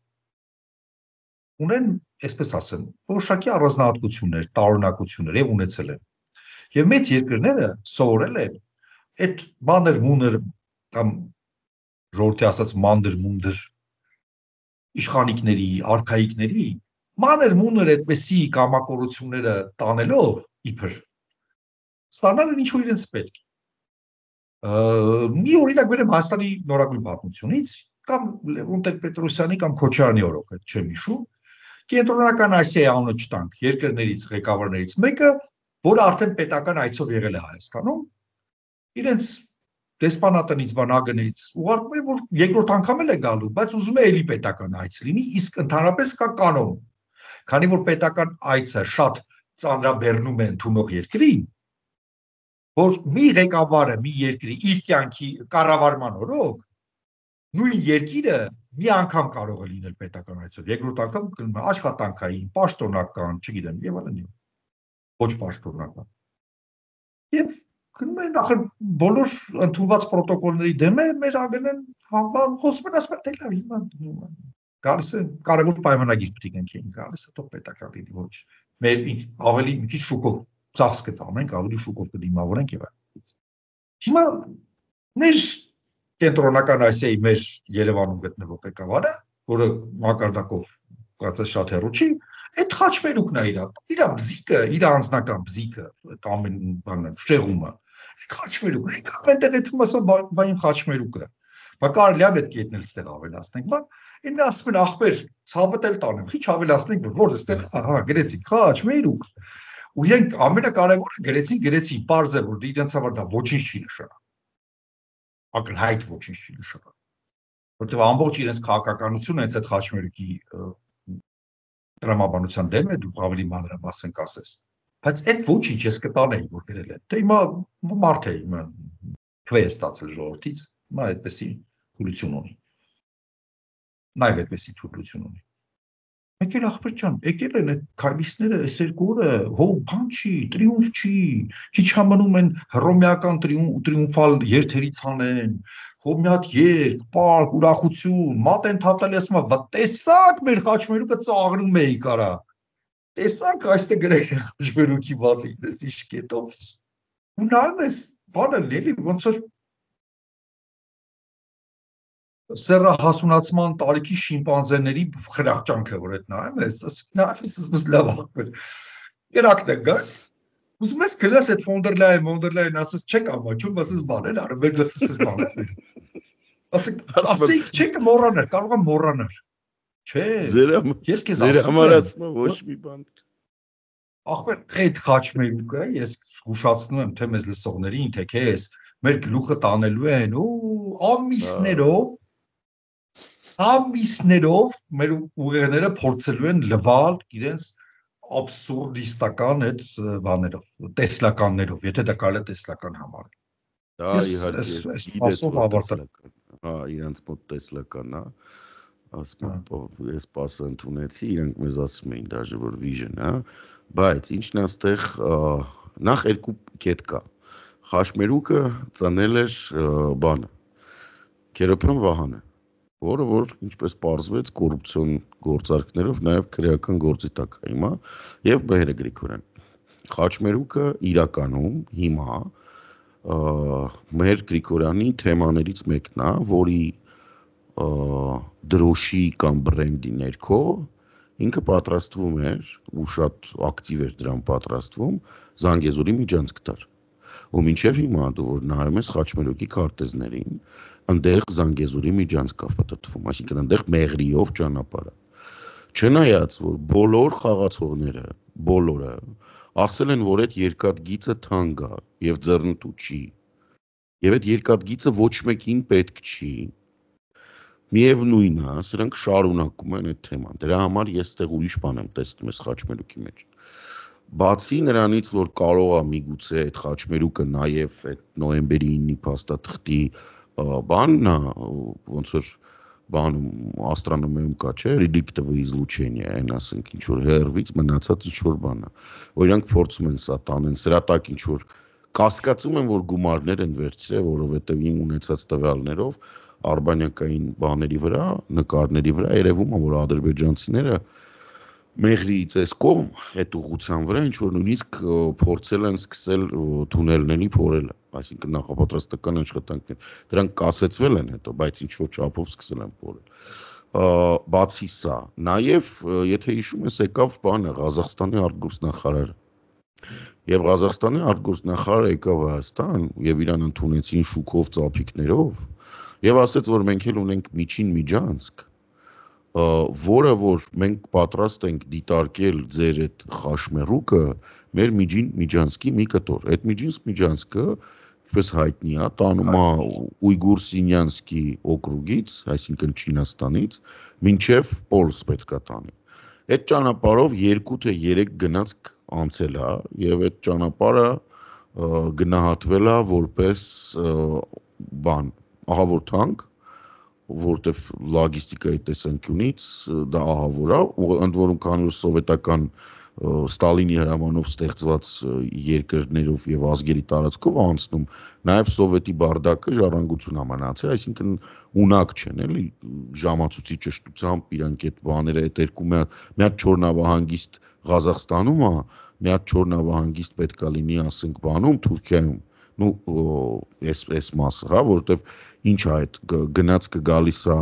ունեն, այսպես ասեմ, որոշակի առանձնահատկություններ, տարօրինակություններ եւ ունեցել են։ Եվ մեծ երկրները սովորել են այդ մանր-մունր կամ ժողովրդի ասած մանդր-մունդր իշխանիկների, արքայիկների մանր-մունր այդպեսի կամակորությունները տանելով իբր ստանալ են ինչ-որ իրենց պետք։ Մի օրինակ վերեմ Հայաստանի նորագույն պատմությունից, կամ Լևոն Տեր-Պետրոսյանի կամ Քոչարյանի օրոք, այդ չեմ հիշում, Կենտրոնական Ասիայի անունը չտանք երկրներից, ղեկավարներից մեկը, որը արդեն պետական այցով եղել է Հայաստանում, իրենց դեսպանատնից բանագնից ուղարկում է, որ երկրորդ անգամ էլ է գալու, բայց ուզում է էլի պետական այց լինի, իսկ ընդհանրապես կա կանոն, քանի որ պետական այցը շատ ծանրաբեռնում է ընդունող երկրին, որ մի ղեկավարը մի երկրի իր կյանքի կառավարման օրոք նույն երկիրը մի անգամ կարող է լինել պետական այցով, երկրորդ անգամ գնում է աշխատանքային, պաշտոնական, չգիտեմ, եւ այլն, ոչ պաշտոնական։ Եվ գնում են ախր բոլոր ընդունված պրոտոկոլների դեմ է մեր ԱԳՆ-ն խոսում են ասում թե լավ հիմա գալիս է կարևոր պայմանագիր պետք ենք էին գալիս է թող պետական լինի ոչ մեր ավելի մի քիչ շուկով ծախս կծանենք ավելի շուկով կդիմավորենք եւ այլն։ Հիմա մեր Կենտրոնական Ասիայի մեր Երևանում գտնվող ղեկավարը, որը մակարդակով կարծես շատ հեռու չի, այդ խաչմերուկն է իր բզիկը, իր անձնական բզիկը, այդ ամեն բանը, շեղումը, խաչմերուկը, այնտեղ էթում ասա բային խաչմերուկը, բա կարելի է պետք է եթնել ստեղ ավելացնենք, բա ինձ ասում են ախպեր, ցավդ էլ տանեմ, քիչ ավելացնենք, որ ստեղ, ահա, գրեցի խաչմերուկ, ու իրենք ամենակարևորը գրեցին, պարզ է, որ իրենց համար դա ոչինչ չի նշանակում։ Ակնհայտ ոչինչ չի նշանակում, որտեղ ամբողջ իրենց քաղաքականությունը հենց այդ խաչմերուկի տրամաբանության դեմ է, դու ավելի մանրամասն կասես, բայց այդ ոչինչ ես կտանեի, որ գրել են, դե հիմա մարդ է, հիմա քվե է ստացել ժողովրդից, հիմա այդպեսի թուլություն ունի, նայվ այդպեսի թուլություն ունի, եկել ախպեր ջան, եկել են այդ քայլիստները այս երկու օրը, հող բան չի, տրիումֆ չի, քիչ համանում են հռոմեական տրիումֆալ երթերից անեն, հող մի հատ երգ, պարկ, ուրախություն, մատ են թափել ասում է, բա տեսակ մեր խաչմերուկը ծաղրում էի կարա, տեսակ այստեղ գրել է խաչմերուկի բացի, դες ինչ կետով, ու նայում ես, բանը լելի, ոնց որ սեռահասունացման տարիքի շիմպանզեների խրախճանքը, որ այդ նայում ես, նայում ես լավ ախպեր, երակն է գա, ուզում ես գնաս այդ Ֆոնդերլայն, ասես չեք ամաչում, ասես բանել, արը մեր գլխս ես բանել, ասեք չեք մոռաներ, կարող եմ մոռաներ, չէ, ես քեզ ասում եմ, ոչ մի բան ախպեր, այդ խաչմերուկը, ես հուշացնում եմ, թե մեզ լսողներին, թե քեզ, մեր գլուխը տանելու են, ու ամիսներով մեր ուղեղները փորձելու են լվալ իրենց աբսուրդիստական այդ բաներով, տեսլականներով, եթե դա կարելի է տեսլական համարել։ Դա իհարկե սպասով ավարտել։ Հա, իրենց մոտ տեսլական է, ասում եմ, ես սպասը ընդունեցի, իրենք մեզ ասում էին դաժե որ vision, հա, բայց ինչն այստեղ նախ երկու կետ կա։ Խաչմերուկը ծնել էր բանը, Քերոբյան Վահանը, որը որ ինչպես պարզվեց կոռուպցիոն գործարքներով նաև քրեական գործի տակ է հիմա եւ Մհերը Գրիգորյան։ Խաչմերուկը իրականում հիմա Մհեր Գրիգորյանի թեմաներից մեկն է, որի դրոշի կամ բրենդի ներքո ինքը պատրաստվում էր ու շատ ակտիվ էր դրան պատրաստվում Զանգեզուրի միջանցք տար։ Ու մինչև հիմա դու որ նայում ես Խաչմերուկի քարտեզներին, այնտեղ Զանգեզուրի միջանցք կա պատտվում, այսինքն այնտեղ մեղրիով ճանապարհը։ Չնայած որ բոլոր խաղացողները, բոլորը ասել են, որ այդ երկաթգիծը թանկ է եւ ձեռնտու չի։ Եվ այդ երկաթգիծը ոչ մեկին պետք չի։ Միևնույնն է, սրանք շարունակում են այդ թեման։ Դրա համար ես այդտեղ ուրիշ բան եմ տեսնում այս Խաչմերուկի մեջ։ Բացի նրանից, որ կարող է միգուցե այդ խաչմերուկը նաև այդ նոյեմբերի 9-ի փաստաթղթի բանն է, ոնց որ բանում աստրոնոմիայում կա, չէ, ռեդիկտիվ իզլուչենիա, այն ասենք ինչ որ հերվից մնացած ինչ որ բան է, որ իրանք փորձում են սա տանեն, սրա տակ ինչ որ կասկածում են, որ գումարներ են վերցրել, որովհետև իմ ունեցած տվյալներով արբանյակային բաների վրա, նկարների վրա երևում է, որ ադրբեջանցիները Մեղրիից այս կողմ այդ ուղղության վրա ինչ որ նույնիսկ փորձել են սկսել թունելների փորելը, այսինքն նախապատրաստական աշխատանքներ։ Դրանք կասեցվել են հետո, բայց ինչ որ չափով սկսել են փորել։ Բացի սա, նաև եթե հիշում ես, եկավ բանը Ղազախստանի արտգործնախարարը։ Եվ Ղազախստանի արտգործնախարարը եկավ Հայաստան եւ իրան ընդունեցին շուկով ծափիկներով եւ ասաց, որ մենք էլ ունենք միջին միջանցք, որը որ մենք պատրաստ ենք դիտարկել ձեր այդ խաշմերուկը մեր միջին միջանցքի մի կտոր։ Այդ միջին միջանցքը, ինչպես հայտնի է, տանում է Ույգուր Սինյանսկի օկրուգից, այսինքն Չինաստանից, մինչև Պոլս պետք է տանի։ Այդ ճանապարհով 2 թե 3 գնացք անցել է եւ այդ ճանապարհը գնահատվել է որպես բան, ահավոր թանկ, որտեվ լոգիստիկայի տեսանկյունից դա ահավոր է, ընդ որում քանի որ սովետական Ստալինի հրամանով ստեղծված երկրներով եւ ազգերի տարածքով անցնում, նաեւ սովետի բարդակը ժառանգություն է մնացել, այսինքն ունակ չեն, էլի, ժամացույցի ճշտությամբ իրանք այդ բաները այդ երկու մի հատ չոր նավահանգիստ Ղազախստանում է, մի հատ չոր նավահանգիստ պետքա լինի, ասենք, բանում Թուրքիայում, այս մասը, հա, որտեվ ինչ է այդ գնացքը գալիս է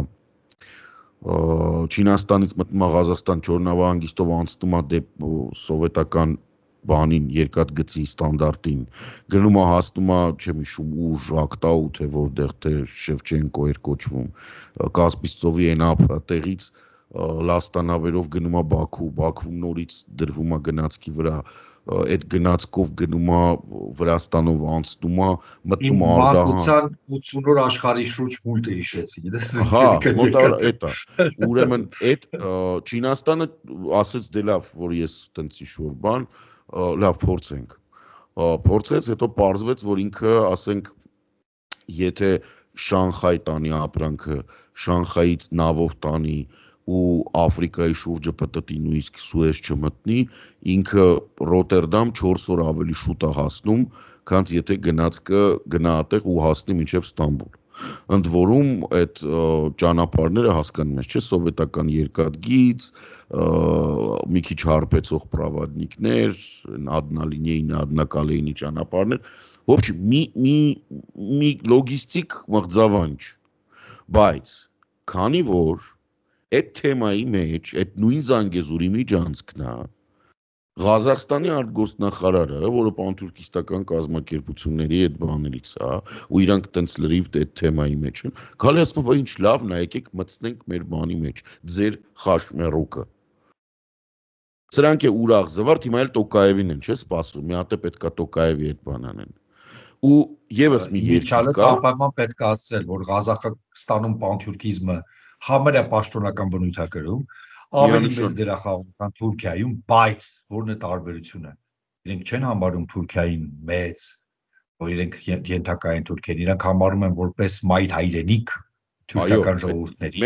Չինաստանից մտնում է Ղազախստան չորնավահանգիստով անցնում է դեպ սովետական բանին երկաթգծի ստանդարտին գնում է հասնում է չեմ հիշում ուժ ակտաու թե որտեղ թե Շևչենկո էր կոչվում Կասպից ծովի այն ափտեղից լաստանավերով գնում է Բաքու Բաքվում նորից դրվում է գնացքի վրա այդ գնացքով գնում է Վրաստանով անցնում է մտնում է Մանկության 80-րդ աշխարհի շուրջ մուլտը հիշեցի, գիտես։ Հա, մոտավոր էդ է։ Ուրեմն այդ Չինաստանը ասեց դե լավ, որ ես տենց ինչ-որ բան, լավ փորձենք։ Փորձեց, հետո պարզվեց, որ ինքը, ասենք, եթե Շանխայ տանի ապրանքը, Շանխայից նավով տանի ու Աֆրիկայի շուրջը պտտի նույնիսկ Սուեզ չմտնի, ինքը Ռոտերդամ 4 օր ավելի շուտ է հասնում, քան եթե գնացքը գնա այդտեղ ու հասնի մինչև Ստամբուլ։ Ընդ որում այդ ճանապարհները հասկանում ես, չէ, սովետական երկաթգիծ, մի քիչ հարբեցող պրավադնիկներ, ադնալինիային, ադնակալեինի ճանապարհներ, в общем, մի լոգիստիկ մղձավանջ, բայց քանի որ այդ թեմայի մեջ, այդ նույն Զանգեզուրի միջանցքն է, Ղազախստանի արտգործնախարարը, որը պանթուրքիստական կազմակերպությունների այդ բաներից է, ու իրանք տենց լրիվ այդ թեմայի մեջ են, գալի ասում, ինչ լավն է, եկեք մտցնենք մեր բանի մեջ, ձեր խաշմերուկը։ Սրանք է ուրախ զվարթ, հիմա էլ Տոկաևին են, չէ, սպասում, մի հատ է պետքա Տոկաևի այդ բան անեն։ Ու եւս մի երկու կա, անպայման պետք է ասել, որ Ղազախստանում պանթուրքիզմը համարյա պաշտոնական բնույթ է կրում, ավելի մեծ դերախաղում քան Թուրքիայում, բայց որն է տարբերությունը։ Իրենք չեն համարում Թուրքիային մեծ, որ իրենք ենթակա են Թուրքիային, իրենք համարում են որպես մայր հայրենիք թուրքական ժողովուրդների։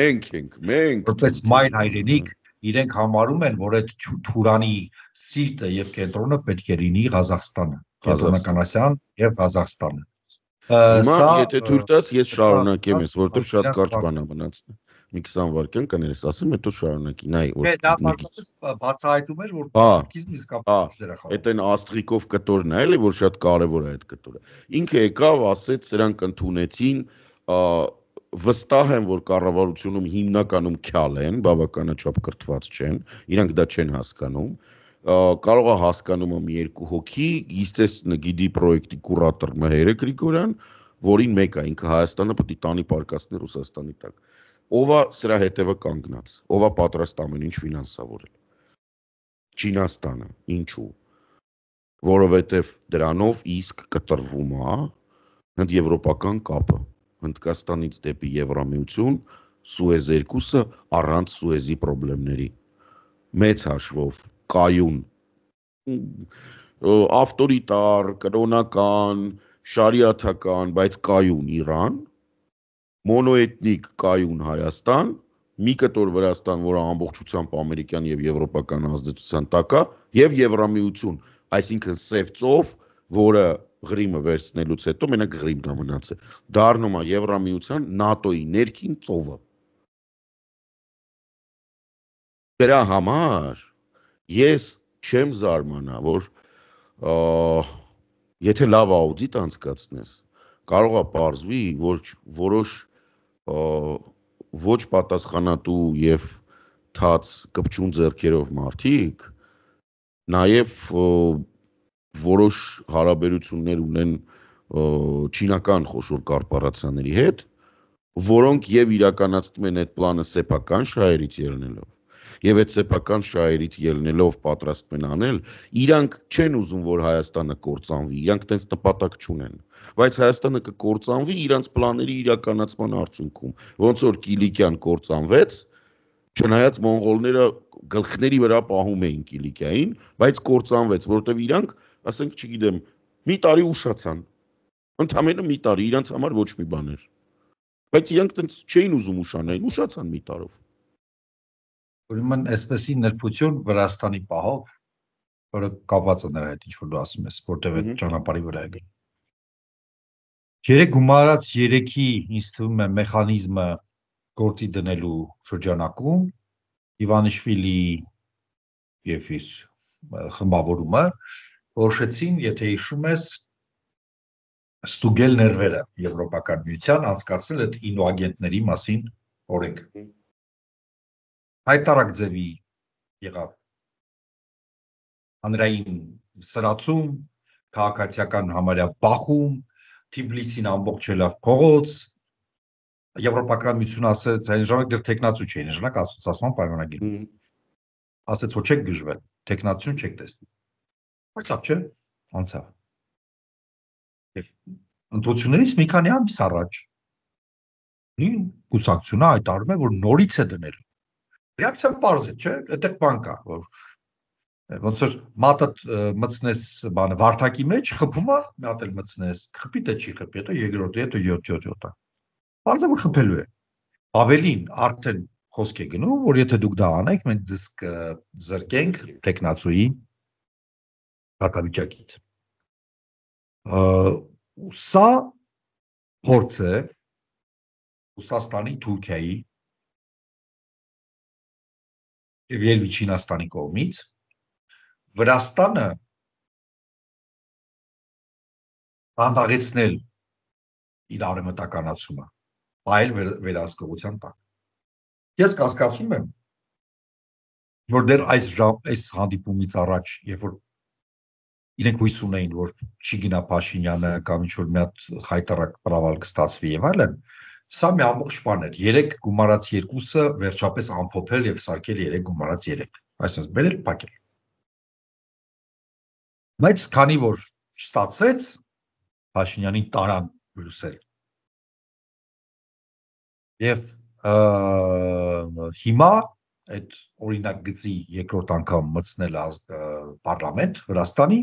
Մենք որպես մայր հայրենիք իրենք համարում են, որ այդ Թուրանի սիրտը եւ կենտրոնը պետք է լինի Ղազախստանը, Կենտրոնական Ասիան եւ Ղազախստանը։ Հիմա եթե թույլ տաս, ես շարունակեմ ես, որովհետեւ շատ կարճ բան է մնացել։ Մի 20 վայրկյան կներես, ասեմ, հետո շարունակի, նայ, որ դա բացառապես բացահայտում էր, որ պանթուրքիզմը իսկապես դերախաղ։ Այդ այն Աստրիկով կտորն է, էլի, որ շատ կարևոր է այդ կտորը։ Ինքը եկավ, ասեց, սրանք ընդունեցին, վստահ եմ, որ կառավարությունում հիմնականում քյալ են, բավականաչափ կրթված չեն, իրանք դա չեն հասկանում։ Կարող է հասկանում եմ 2 հոգի, естественно, գիդի պրոյեկտի կուրատոր Մհերը Գրիգորյան, որին մեկ է, ինքը Հայաստանը պետք է տանի պարկասներ Ռուսաստանի տակ։ Ով է սրա հետևը կանգնած, ով է պատրաստ ամեն ինչ ֆինանսավորել։ Չինաստանը, ինչու։ Որովհետև դրանով իսկ կտրվում է հնդեվրոպական կապը, Հնդկաստանից դեպի Եվրամիություն, Սուեզ 2-ը առանց Սուեզի խնդիրների։ Մեծ հաշվով կայուն ավտորիտար, կրոնական, շարիաթական, բայց կայուն Իրան, մոնոէթնիկ կայուն Հայաստան, մի կտոր Վրաստան, որը ամբողջությամբ ամերիկյան եւ եվրոպական ազդեցության տակ է, եւ Եվրամիություն, այսինքն սև ծով, որը Ղրիմը վերցնելուց հետո մենակ Ղրիմն է մնացել, դառնում է Եվրամիության ՆԱՏՕ-ի ներքին ծովը։ Դրա համար ես չեմ զարմանա, որ եթե լավ աուդիտ անցկացնես, կարող է պարզվի, որ որոշ ոչ պատասխանատու եւ թաց կպչուն ձեռքերով մարդիկ նաեւ որոշ հարաբերություններ ունեն չինական խոշոր կորպորացիաների հետ, որոնք եւ իրականացնում են այդ պլանը սեփական շահերից ելնելով եւ այդ սեփական շահերից ելնելով պատրաստում են անել, իրանք չեն ուզում, որ Հայաստանը կործանվի, իրանք տենց նպատակ չունեն, բայց Հայաստանը կկործանվի իրանց պլաների իրականացման արդյունքում, ոնց որ Կիլիկյան կործանվեց, չնայած մոնղոլները գլխների վրա պահում էին Կիլիկիային, բայց կործանվեց, որտեվ իրանք, ասենք, չգիտեմ, մի տարի ուշացան, ընդամենը մի տարի, իրանց համար ոչ մի բան էր, բայց իրանք տենց չէին ուզում ուշանային, ուշացան մի տարով։ Ուրեմն այսպեսի նրբություն Վրաստանի պահով, որը կապված է նրա հետ, ինչ որ դու ասում ես, որտեղ այդ ճանապարհի վրա է գնում։ Երեք գումարած 3-ի ինձ թվում է մեխանիզմը գործի դնելու շրջանակում Իվանիշվիլի եւ իր խմբավորումը որոշեցին, եթե հիշում ես, ստուգել ներվերը Եվրոպական միության, անցկացնել այդ ինոագենտների մասին օրենք։ Հայտարարակ ձևի եղավ հանրային սրացում, քաղաքացիական համարյա բախում, Թիբլիսին ամբողջելով փողոց, Եվրոպական միությունը ասեց, այն ժամանակ դեռ տեխնացու չէին, ժամանակ ասոցիացիան պայմանագիր։ Ասեց, որ չեք գժվել, տեխնացություն չեք տեսնի։ Բայց լավ չէ, անցավ։ Եվ ընդդություններից մի քանի ամիս առաջ նույն կուսակցությունը հայտարարում է, որ նորից է դնելու։ Ռեակցիան պարզ է, չէ՞, այդտեղ բան կա, որ ոնց որ մատը մցնես բանը վարդակի մեջ խփում է, մի հատ էլ մցնես, խփի թե չի խփի, հետո երկրորդը, հետո 7-7-7-ը։ Պարզ է, որ խփելու է։ Ավելին արդեն խոսք է գնում, որ եթե դուք դա անեք, մենք ձեզ կզրկենք տեխնացուի հակավիճակից։ Սա փորձ է Ռուսաստանի, Թուրքիայի եւ Չինաստանի կողմից Վրաստանը հանդաղեցնել իր արևմտականացումը, այլ վերահսկողության տակ։ Ես կասկածում եմ, որ դեռ այս հանդիպումից առաջ, երբ որ իրենք հույս ունեին, որ չի գնա Փաշինյանը կամ ինչ-որ մի հատ խայտարակ պրավալ կստացվի եւ այլն, սա մի ամբողջ բան էր։ 3 գումարած 2-ը վերջապես ամփոփել եւ սարքել 3 գումարած 3։ Այսինքն բերել փակել։ Բայց քանի որ չստացվեց, Փաշինյանին տարան Բրյուսել։ Եվ հիմա այդ օրինակ գծի երկրորդ անգամ մտցնել պարլամենտ Վրաստանի,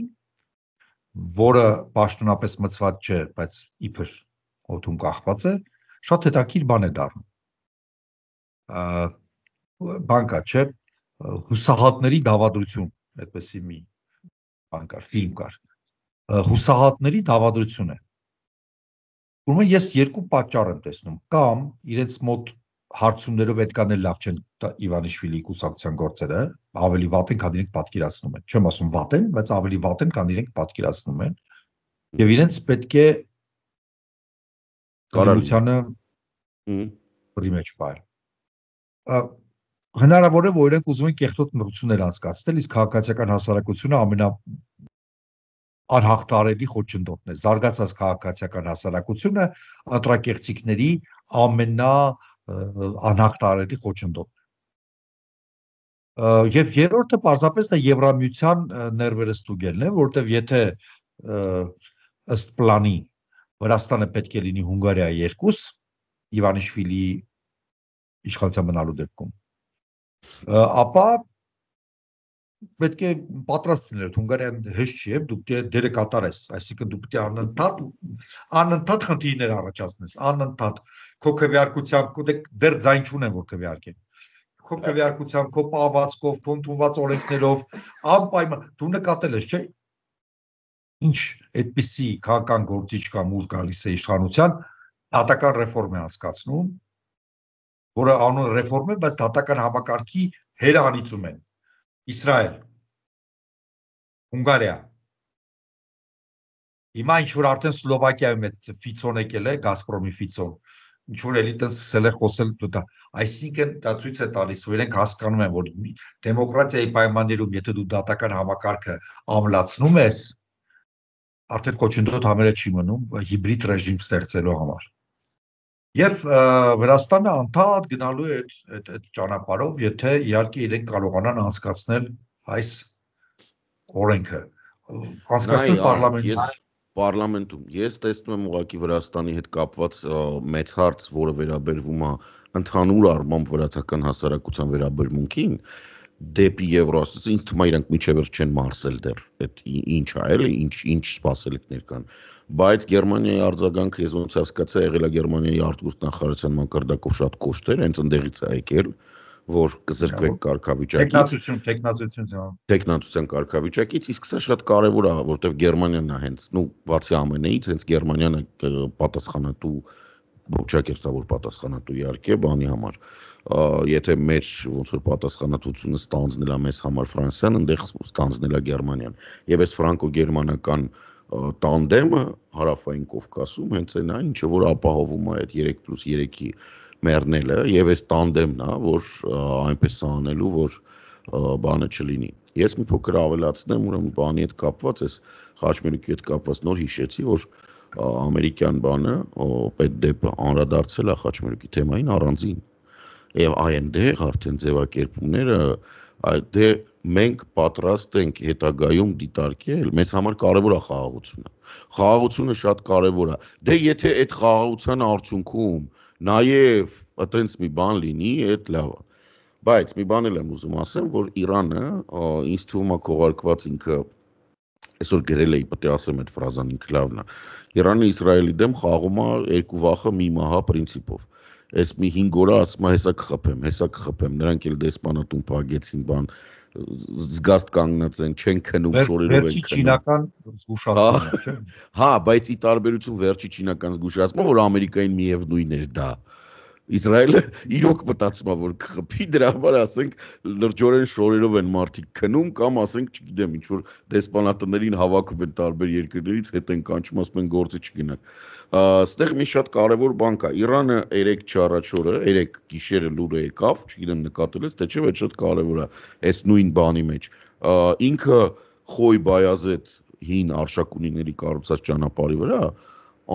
որը պաշտոնապես մցված չէ, բայց իբր օդում կախված է, շատ հետաքրքիր բան է դառնում։ Բան կա, չէ, հուսահատների դավադրություն, այդպեսի մի բան կար, ֆիլմ կար։ Հուսահատների դավադրություն է։ Ուրեմն ես երկու պատճառ եմ տեսնում, կամ իրենց մոտ հարցումներով այդքան էլ լավ չեն Իվանիշվիլի կուսակցության գործերը, ավելի վատ են, քան իրենք պատկերացնում են։ Չեմ ասում վատ են, բայց ավելի վատ են, քան իրենք պատկերացնում են։ Եվ իրենց պետք է կարողությանը բռի մեջ պահել։ Հնարավոր է, որ իրենք ուզում են կեղտոտ մրցություններ անցկացնել, իսկ քաղաքացիական հասարակությունը անհաղթարելի խոչընդոտն է։ Զարգացած քաղաքացիական հասարակությունը ընտրակեղծիքների անհաղթարելի խոչընդոտն է։ Եվ երրորդը պարզապես դա Եվրամիության ներվերը ստուգելն է, որտեղ եթե ըստ պլանի Վրաստանը պետք է լինի Հունգարիայի 2, Իվանիշվիլի իշխանության մնալու դեպքում, ապա պետք է պատրաստ լինել, Հունգարիան հեշտ չի, դուք դերը կատարես, այսինքն դուք պետք է անընդհատ խնդիրներ առաջացնես, անընդհատ քո քվեարկությամբ դեռ ձայն չունեն, որ քվեարկեն։ Քո քվեարկությամբ, քո պահվածքով, քո ընդունված օրենքներով, անպայման դու նկատել ես, չէ՞, ինչ այդպիսի քաղաքական գործիչ կամ ուժ գալիս է իշխանության, դատական ռեֆորմ է անցկացնում, որը անուն ռեֆորմ է, բայց դատական համակարգի հերանիծում են։ Իսրայել, Հունգարիա, հիմա ինչ-որ արդեն Սլովակիայում այդ Ֆիցոն եկել է, Գազպրոմի Ֆիցոն, ինչ-որ էլի տենց սկսել է խոսել դա, այսինքն դա ցույց է տալիս, որ իրենք հասկանում են, որ դեմոկրատիայի պայմաններում, եթե դու դատական համակարգը ամլացնում ես, արդեն խոչընդոտ համերը չի մնում հիբրիդ ռեժիմ ստեղծելու համար։ Եվ Վրաստանը անդադ գնալու է այդ ճանապարհով, եթե իհարկե իրենք կարողանան անցկացնել այս օրենքը, անցկացնել պարլամենտում։ Ես տեսնում եմ ուղղակի Վրաստանի հետ կապված մեծ հարց, որը վերաբերվում է ընդհանուր առմամբ վրացական հասարակության վերաբերմունքին, դեպի Եվրոասիա, ինձ թվում է իրանք միջևեր չեն մարսել դեռ, այդ ինչ է, էլի, ինչ սպասելիքներ կան, բայց Գերմանիայի արձագանքը ես ոնց հասկացա, եղել է Գերմանիայի արտգործնախարարության մակարդակով շատ կոշտ էր, հենց ընդեղից է եկել, որ կզրկվեք տեխնացության կարգավիճակից, իսկ սա շատ կարևոր է, որտեղ Գերմանիան է հենց, բացի ԱՄՆ-ից, հենց Գերմանիան է պատասխանատու, ողջակերտավոր պատասխանատու իհարկե բանի համար, եթե մեր ոնց որ պատասխանատվությունը ստանձնել է մեզ համար Ֆրանսիան, այնտեղ ստանձնել է Գերմանիան, եւ այս ֆրանկո-գերմանական տանդեմը հարավային Կովկասում հենց այն է, ինչը որ ապահովում է այդ 3+3-ի մեռնելը եւ այս տանդեմն է, որ այնպես անելու, որ բանը չլինի։ Ես մի փոքր ավելացնեմ, ուրեմն բանի հետ կապված, այս խաչմերուկի հետ կապված նոր հիշեցի, որ ամերիկյան բանը պետդեպը անդրադարձել է խաչմերուկի թեմային առանձին եւ այնտեղ արդեն ձևակերպումները դե մենք պատրաստ ենք հետագայում դիտարկել, մեզ համար կարևոր է խաղաղությունը շատ կարևոր է, դե եթե այդ խաղաղության արդյունքում նաեւ այտենց մի բան լինի, այդ լավ է, բայց մի բան էլ եմ ուզում ասեմ, որ Իրանը ինձ թվում է քողարկված ինքը այսօր գրել էի, պետք է ասեմ այդ ֆրազան ինքը լավն է, Իրանը Իսրայելի դեմ խաղում է երկու վախը մի մահա պրինցիպով, այս մի 5 օրը ասում է հեսա կխփեմ, նրանք էլ դեսպանատուն փակեցին, բան զգաստ կանգնած են, չեն քնում, շորերով են քնում։ Վերջի չինական զգուշացումը, չէ՞։ Հա, բայց ի տարբերություն վերջի չինական զգուշացումը, որ Ամերիկային միևնույն էր դա։ Իսրայելը իրոք մտածում է, որ կխփի, դրա համար ասենք լրջորեն շորերով են մարդիկ քնում կամ ասենք, չգիտեմ, ինչ որ դեսպանատներին հավաքում են տարբեր երկրներից, հետ են կանչում, ասում են գործի չգնաք։ Այստեղ մի շատ կարևոր բան կա։ Իրանը 3 չառաջորը, 3 գիշերը լուրը եկավ, չգիտեմ նկատել ես, թե չէ, բայց շատ կարևոր է այս նույն բանի մեջ։ Ինքը Խոյ Բայազեդ հին արշակունիների կառուցած ճանապարհի վրա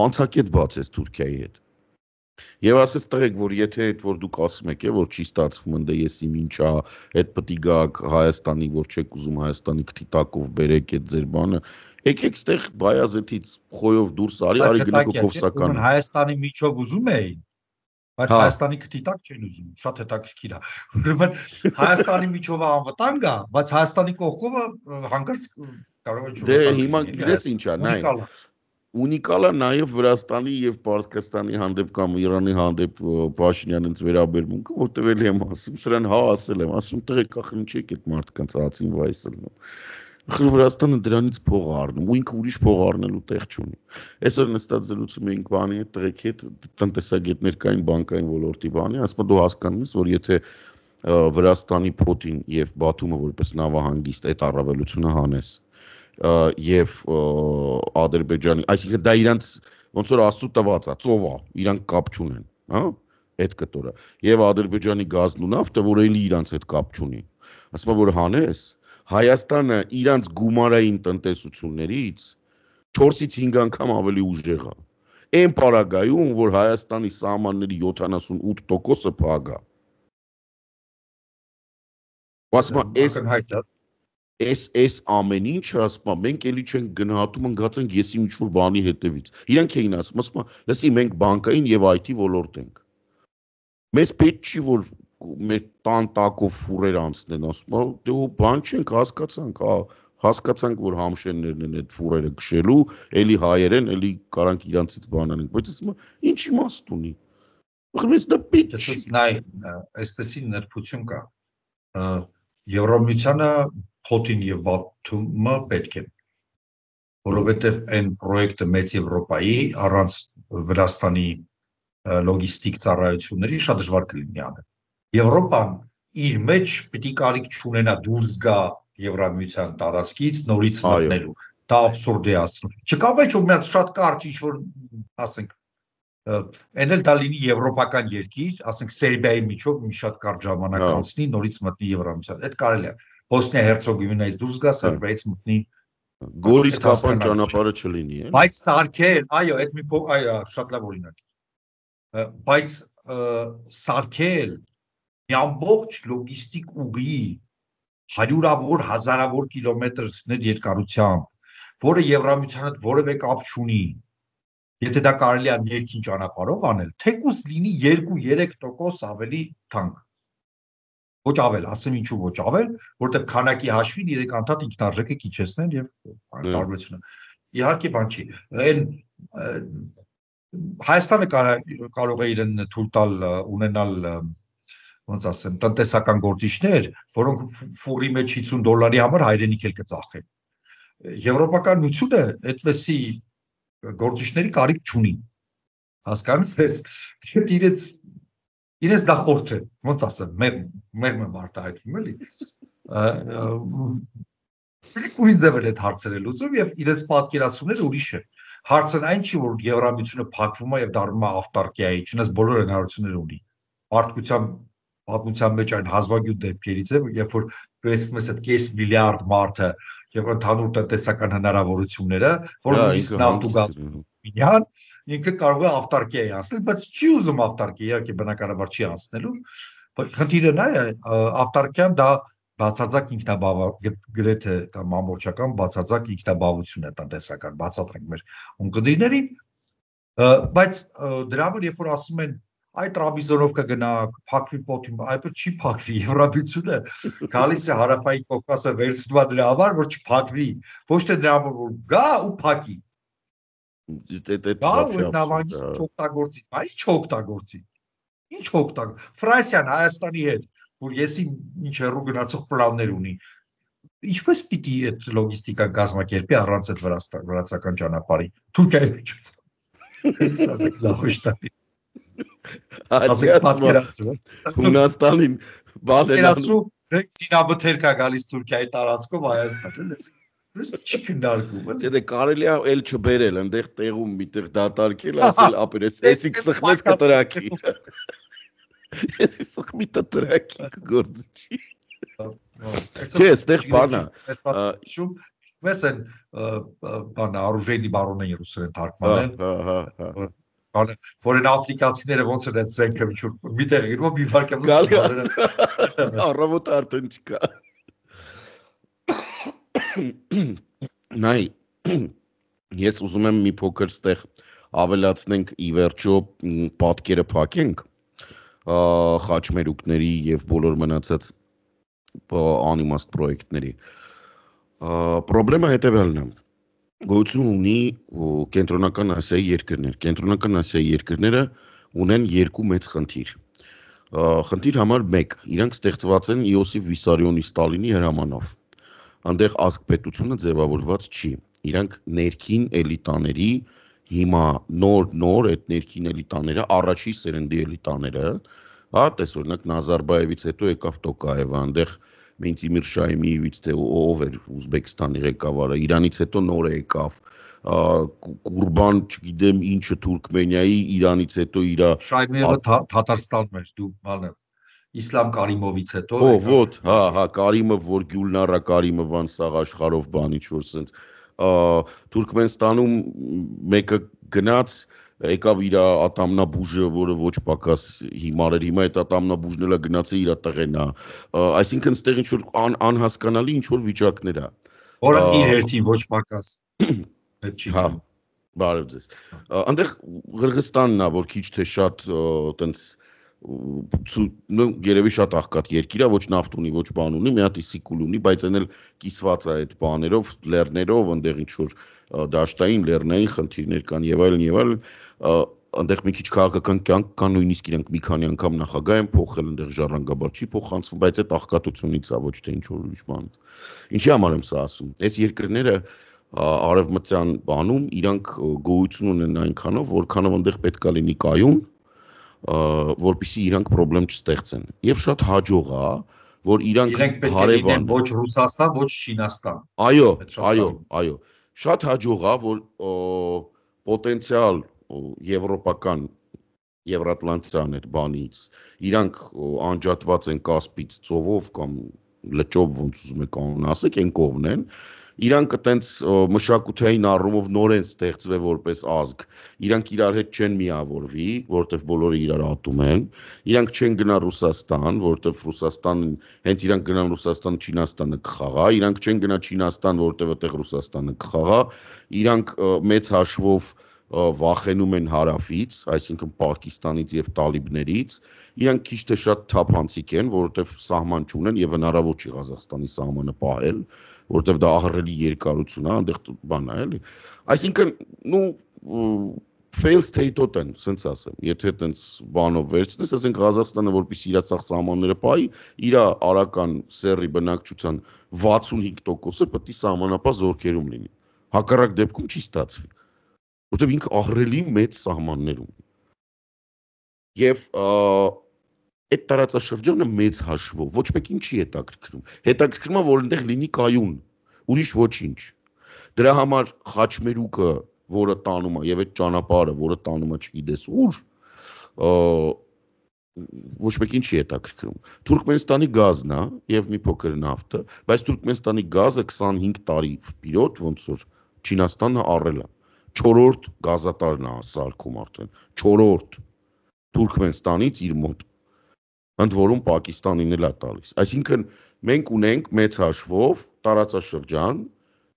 անցակետ բացեց Թուրքիայի հետ։ Եվ ասես տղեկ, որ եթե այդ որ դուք ասում եք, որ չի ստացվում, ընդ ես իմ ինչա, այդ պետք է գաք Հայաստանի, որ չեք ուզում Հայաստանի քթիտակով բերեք այդ ձեր բանը, եկեք ստեղ Բայազետից Խոյով դուրս արի գնաք Կովսականը։ Հայաստանի միջով ուզում էին, բայց Հայաստանի քթիտակ չեն ուզում, շատ հետաքրքիր է։ Ուրեմն Հայաստանի միջով անվտանգ է, բայց Հայաստանի կողքովը հանգարց կարող է Դե հիմա գիտես ինչ է, նայ։ Ունիկալ է նաև Վրաստանի եւ Պարսկաստանի հանդեպ կամ Իրանի հանդեպ Փաշինյանից վերաբերմունքը, որտեղ էլի եմ ասում, սրան հա ասել եմ, ասում տղեկ ախր ինչ եք այդ մարդկանց հացին վայսելնում։ Ախր Վրաստանը դրանից փող առնում, ու ինքը ուրիշ փող առնելու տեղ չունի։ Այսօր նստած զրուցում էինք բանի հետ, տղեկ հետ, տնտեսագետներ կային բանկային ոլորտի բանի, ասում դու հասկանում ես, որ եթե Վրաստանի Պուտին եւ Բաթումը որպես նավահանգիստ այդ առավելությունը հանես եւ Ադրբեջանի, այսինքն դա իրանց ոնց որ աստծո տված է, ծով է, իրանք կապ չունեն, հա, այդ կտորը։ Եվ Ադրբեջանի գազն ու նավթը, որ էլի իրանց հետ կապ չունի։ Ասում եմ որ հանես, Հայաստանը իրանց գումարային տնտեսություններից 4-ից 5 անգամ ավելի ուժեղ է։ Այն պարագայում, որ Հայաստանի սահմանների 78%-ը փակ է։ Ասում Այս ամեն ինչը ասում մենք էլի չենք գնահատում ընկած ենք եսի ինչ-որ բանի հետևից։ Իրանք էին ասում, լսի մենք բանկային եւ IT ոլորտ ենք։ Մեզ պետք չի որ մեր տան տակով ֆուրեր անցնեն, ասում եմ, դե ու բան չենք հասկացանք, որ համշեններն են այդ ֆուրերը քշելու, էլի հայեր են, էլի կարանք իրանցից բան անենք, բայց ասում եմ, ինչ իմաստ ունի։ Ախր դա պիտ չի։ Նայ, այսպեսի նրբություն կա։ Եվրամիությանը Փոթին եւ Բաթումը պետք է, որովհետեւ այն պրոյեկտը մեծ Եվրոպայի առանց Վրաստանի լոգիստիկ ծառայությունների շատ դժվար կլինի անել։ Եվրոպան իր մեջ պիտի կարիք չունենա դուրս գա Եվրամիության տարածքից նորից մտնելու։ Դա абսուրդ է ասում։ Չկա ոչ որ մի հատ շատ կարճ ինչ որ ասենք այն էլ դա լինի եվրոպական երկիր, ասենք Սերբիայի միջով մի շատ կարճ ժամանակ անցնի նորից մտնի Եվրամիության։ Այդ կարելի է։ Բոսնիա Հերցեգովինայից դուրս գա, Սերբիայից մտնի Գորիս կապան ճանապարհը չլինի, է։ Բայց սարքել, այո, այդ մի այո, շատ լավ օրինակ։ Բայց սարքել մի ամբողջ լոգիստիկ ուղի հարյուրավոր, հազարավոր կիլոմետրներ երկարությամբ, որը Եվրամիության հետ որևէ կապ չունի։ Եթե դա կարելի է ներքին ճանապարհով անել, թեկուզ լինի 2-3% ավելի թանկ։ Ոչ ավել, ասեմ ինչու ոչ ավել, որտեղ քանակի հաշվին իրենք անդադ ինքնարժեքը քիչեցնեն եւ տարբերությունը։ Իհարկե բան չի։ Այն Հայաստանը կարող է իրեն թույլ տալ ունենալ ոնց ասեմ, տնտեսական գործիչներ, որոնք ֆուրի մեջ $50 համար հայրենիք էլ կծախեն։ Եվրոպական միությունը այդպեսի գործիչների կարիք չունի։ Հասկանում ես, իրենց նախորդ է, ոնց ասեմ, մեր արտահայտվում էլի։ Ուրիշ ձև էլ այդ հարցերը լուծում եւ իրենց պատկերացումները ուրիշ է։ Հարցն այն չի, որ Եվրամիությունը փակվում է եւ դառնում է ավտարկիայի, չնայած բոլոր հնարավորությունները ունի։ Մարդկության պատմության մեջ այն հազվագյուտ դեպքերից է, երբ որ տեսնում ես այդ կես միլիարդ մարդը եւ ընդհանուր տնտեսական հնարավորությունները, որ նույնիսկ նավթ ու գազ միան ինքը կարող է ավտարկիայի անցնել, բայց չի ուզում ավտարկիա, իհարկե բնականաբար չի անցնելու, բայց խնդիրը նա է, ավտարկիան դա բացարձակ գրեթե կամ ամբողջական բացարձակ ինքնաբավություն է տնտեսական, բացատրենք մեր ունկնդիրներին, բայց դրա համար երբ որ ասում են այ Տրաբիզոնով կգնա, փակվի Պոթին, այդպես չի փակվի, Եվրամիությունը գալիս է հարավային Կովկասը վերցնում է դրա համար, որ չփակվի, ոչ թե դրա համար որ գա ու փակի։ Դա ու նավանգից չօգտագործի, այ չօգտագործի։ Ինչ օգտագործի։ Ֆրանսիան Հայաստանի հետ, որ եսի ինչ հեռու գնացող պլաններ ունի։ Ինչպես պիտի այդ լոգիստիկա կազմակերպի առանց այդ վրացական ճանապարհի։ Թուրքիայի միջից։ Էս ասեք զավոշտի։ Ասեք պատկերացրու։ Հունաստանին պատկերացրու զինաբթեր կա գալիս Թուրքիայի տարածքով Հայաստան։ Չի քննարկում, էլի։ Դե կարելի է էլ չբերել, այնտեղ տեղում միտեղ դատարկել, ասել ապերես, էսի կսխնես կտրակի։ Էսի սխմի կտրակի կգործի չի։ Չէ, այստեղ բանա։ Ես են բանը оружейный бароны ռուսերեն թարգմանել։ Բանը, որ են աֆրիկացիները ոնց են այդ զենքը միտեղ իրում մի վարկյանում գալի։ Առավոտ արդեն չկա։ Նայ, ես ուզում եմ մի փոքր ստեղ ավելացնենք ի վերջո պատկերը փակենք խաչմերուկների եւ բոլոր մնացած անիմաստ պրոյեկտների։ Պրոբլեմը հետեւյալն է։ Գոյություն ունի կենտրոնական Ասիայի երկրներ։ Կենտրոնական Ասիայի երկրները ունեն երկու մեծ խնդիր։ Խնդիր համար 1, իրանք ստեղծված են Իոսիֆ Վիսարիոնի Ստալինի հրամանով։ Այնտեղ ազգպետությունը ձևավորված չի։ Իրանք ներքին էլիտաների հիմա նոր այդ ներքին էլիտաները, առաջի սերնդի էլիտաները, հա, տես օրինակ Նազարբաևից հետո եկավ Տոկաևը, այնտեղ Մենտիմիր Շայմիևից թե ով էր Ուզբեկստանի ղեկավարը, Իրանից հետո նորը եկավ, Կուրբան, չգիտեմ ինչը Թուրքմենիայի, Իրանից հետո իրա Շայմիևը Թաթարստանում էր, դու բանը Իսլամ Կարիմովից հետո ոտ, հա, Կարիմով, որ Գյուլնարա Կարիմովան սաղ աշխարհով բան ինչ որ սենց Թուրքմենստանում մեկը գնաց եկավ իր ատամնաբուժը, որը ոչ պակաս հիմար էր, հիմա այդ ատամնաբուժն էլ գնացել իր տղեն է, այսինքն ստեղ ինչ որ անհասկանալի ինչ որ վիճակներ է, որը իր հերթին ոչ պակաս այդ չի։ Հա, բարև ձեզ։ Այնտեղ Ղրղստանն է, որ քիչ թե շատ տենց երևի շատ աղքատ երկիր է, ոչ նավթ ունի, ոչ բան ունի, մի հատ սիկուլ ունի, բայց այն էլ կիսված է այդ բաներով, լեռներով, այնտեղ ինչ որ դաշտային, լեռնային խնդիրներ կան եւ այլն, այնտեղ մի քիչ քաղաքական կյանք կա, նույնիսկ իրանք մի քանի անգամ նախագահ են փոխել, այնտեղ ժառանգաբար չի փոխանցվում, բայց այդ աղքատությունից է, ոչ թե ինչ որ ուրիշ բան։ Ինչի համար եմ սա ասում։ Այս երկրները արևմտյան բանում իրանք գոյություն ունեն այնքանով, որքանով այնտեղ պետք է լինի կայուն, որպեսզի իրանք խնդրեմ չստեղծեն։ Եվ շատ հաջող է, որ իրանք պետք է լինեն ոչ Ռուսաստան, ոչ Չինաստան։ Այո։ Շատ հաջող է, որ պոտենցիալ եվրոպական Եվրատլանտյան այդ բանից իրանք անջատված են Կասպից ծովով կամ լճով, ոնց ուզում եք անուն ասեք, այն կողմն են։ Իրանք այտենց մշակութային առումով նոր են ստեղծվել որպես ազգ։ Իրանք իրար հետ չեն միավորվի, որտեվ բոլորը իրար ատում են։ Իրանք չեն գնա Ռուսաստան, որտեվ Ռուսաստան հենց իրանք գնան Ռուսաստան, Չինաստանը կխաղա։ Իրանք չեն գնա Չինաստան, որտեվ այդտեղ Ռուսաստանը կխաղա։ Իրանք մեծ հաշվով վախենում են հարավից, այսինքն Պակիստանից եւ տալիբներից, իրանք քիչ թե շատ թափանցիկ են, որովհետեւ սահման չունեն եւ հնարավոր չի Ղազախստանի սահմանը պահել, որովհետեւ դա ահռելի երկարություն է, այնտեղ բան է, էլի։ Այսինքն, fail state-ոտ են, ասենց ասեմ, եթե այդպես բանով վերցնես, ասենք Ղազախստանը որպեսզի իր սաղ սահմանները պահի, իր արական սեռի բնակչության 65%-ը պետք է սահմանապահ զորքերում լինի։ Հակառակ դեպքում չի ստացվի։ Որտեւ ինքը ահռելի մեծ սահմաններ ունի։ Եվ այդ տարածաշրջանը մեծ հաշվով ոչ մեկին չի հետաքրքրում։ Հետաքրքրում է, որ այնտեղ լինի կայուն, ուրիշ ոչինչ։ Դրա համար Խաչմերուկը, որը տանում է, եւ այդ ճանապարհը, որը տանում է չգիտես ուր, ոչ մեկին չի հետաքրքրում։ Թուրքմենստանի գազն է եւ մի փոքր նավթը, բայց Թուրքմենստանի գազը 25 տարի վիրոտ ոնց որ Չինաստանը առել է։ 4-րդ գազատարն է սարքում արդեն, 4-րդ Թուրքմենստանից իր մոտ, ընդ որում Պակիստանին էլ է տալիս։ Այսինքն մենք ունենք մեծ հաշվով տարածաշրջան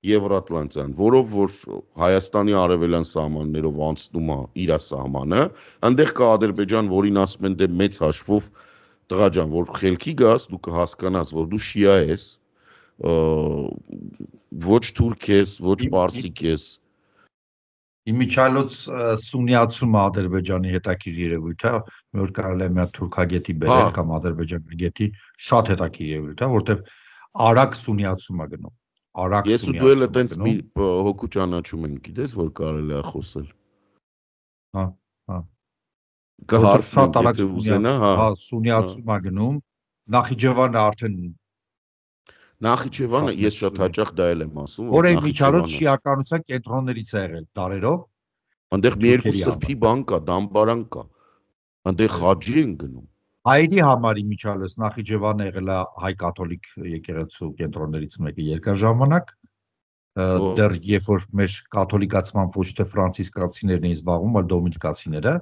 Եվրատլանտյան, որով որ Հայաստանի արևելյան սահմաններով անցնում է իր սահմանը, այնտեղ կա Ադրբեջան, որին ասում են դե մեծ հաշվով տղա ջան, որ խելքի գաս, դու կհասկանաս, որ դու շիա ես, ոչ թուրք ես, ոչ պարսիկ ես։ Իմիջիայլոց սունյացումը Ադրբեջանի հետաքրիր երևույթ է, մի օր կարելի է մի հատ թուրքագետի բերել կամ ադրբեջանագետի, շատ հետաքրիր երևույթ է, որտեվ արագ սունյացում է գնում։ Ես ու դու էլ այտենց մի հոգու ճանաչում ենք, գիտես, որ կարելի է խոսել։ Հա։ Կհարցնենք, եթե ուզենա, սունյացում է գնում։ Նախիջևանը արդեն Նախիջևանը ես շատ հաճախ դա էլ եմ ասում, որ միջալոց շիականության կենտրոններից է եղել դարերով։ Այնտեղ մի երկու սրբի բան կա, դամբարան կա։ Այնտեղ խաջի են գնում։ Հայերի համար միջալոց Նախիջևանը եղել է հայ կաթոլիկ եկեղեցու կենտրոններից մեկը երկար ժամանակ։ Դեռ երբ որ մեր կաթոլիկացման ոչ թե ֆրանցիսկացիներն էին զբաղվում, այլ դոմինիկացիները։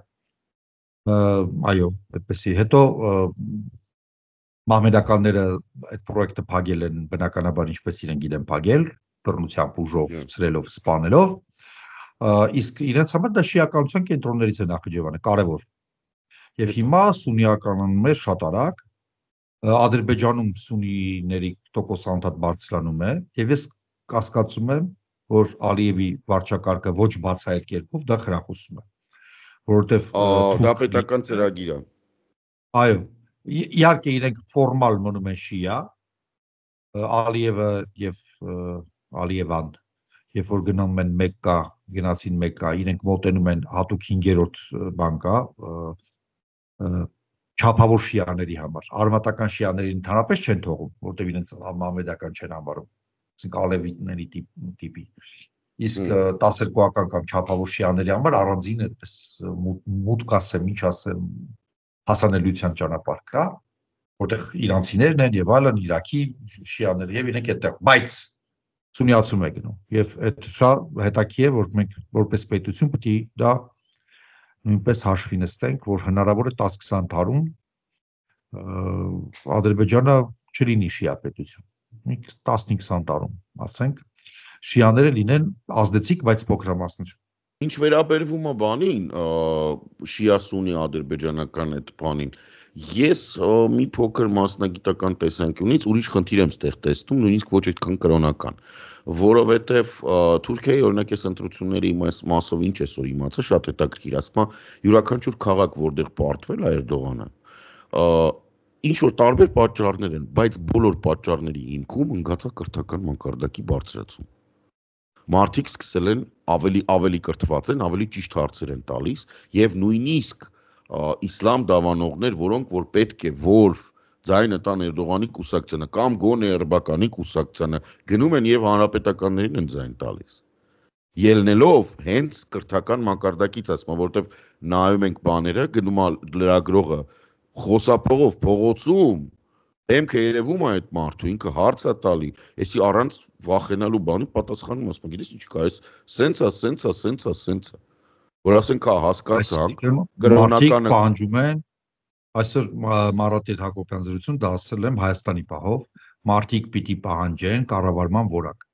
Այո, այդպեսի։ Հետո մահմեդականները այդ պրոյեկտը փակել են, բնականաբար ինչպես իրենք գիտեն փակել, բռնությամբ ուժով, ցրելով, սպանելով, իսկ իրենց համար դա շիականության կենտրոններից է Նախիջևանը, կարևոր։ Եվ հիմա սուննիականանում է շատ արագ, Ադրբեջանում սուննիների տոկոսը անդադ բարձրանում է, եւ ես կասկածում եմ, որ Ալիևի վարչակարգը ոչ բացահայտ կերպով դա խրախուսում է, որովհետեւ դա պետական ծրագիր է։ Այո, իհարկե իրենք ֆորմալ մնում են շիա, Ալիևը եւ Ալիևան, երբ որ գնում են Մեկկա, գնացին Մեկկա, իրենք մոտենում են հատուկ 5-րդ բան կա, չափավոր շիաների համար, արմատական շիաներին ընդհանրապես չեն թողում, որտեղ իրենց մահմեդական չեն համարում, ասենք ալևիտների տիպի։ Իսկ 12-ական կամ չափավոր շիաների համար առանձին այդպես մուտք ասեմ, ինչ ասեմ, հասանելիության ճանապարհ կա, որտեղ իրանցիներն են եւ այլն, Իրաքի շիաները եւ իրենք այդտեղ, բայց սունյացում է գնում եւ այդ շատ հետաքրքիր է, որ մենք որպես պետություն պետք է դա նույնպես հաշվի նստենք, որ հնարավոր է 10-20 տարում Ադրբեջանը չլինի շիա պետություն։ 15-20 տարում, ասենք, շիաները լինեն ազդեցիկ, բայց փոքրամասնություն։ Ինչ վերաբերվում է բանին, շիա-սունի ադրբեջանական այդ բանին, ես մի փոքր մասնագիտական տեսանկյունից ուրիշ խնդիր եմ ստեղ տեսնում, նույնիսկ ոչ այդքան կրոնական, որովհետև Թուրքիայի օրինակ այս ընտրությունների մասով ինչ էսօր իմացա, շատ հետաքրքիր, ասում է յուրաքանչյուր քաղաք, որտեղ պարտվել է Էրդողանը, ինչ որ տարբեր պատճառներ են, բայց բոլոր պատճառների հիմքում ընկած է կրթական մակարդակի բարձրացում։ Մարդիկ սկսել են ավելի կրթված են, ավելի ճիշտ հարցեր են տալիս եւ նույնիսկ իսլամ դավանողներ, որոնք որ պետք է որ ձայնը տան Էրդողանի կուսակցությանը կամ գոնե Էրբականի կուսակցությանը գնում են եւ հանրապետականներին են ձայն տալիս։ Ելնելով հենց կրթական մակարդակից, ասում, որովհետեւ նայում ենք բաները, գնում է լրագրողը խոսափողով փողոցում Դեմքը երևում է այդ մարդու, ինքը հարց է տալի, էսի առանց վախենալու բանի պատասխանում ասում, գիտես ինչ կա, այս սենց է, որ ասենք հասկացանք, Մարդիկ կրոնականը պահանջում են, այսօր Մարաթ Հակոբյան զրույցում դա ասել եմ Հայաստանի պահով, մարդիկ պիտի պահանջեն կառավարման որակ։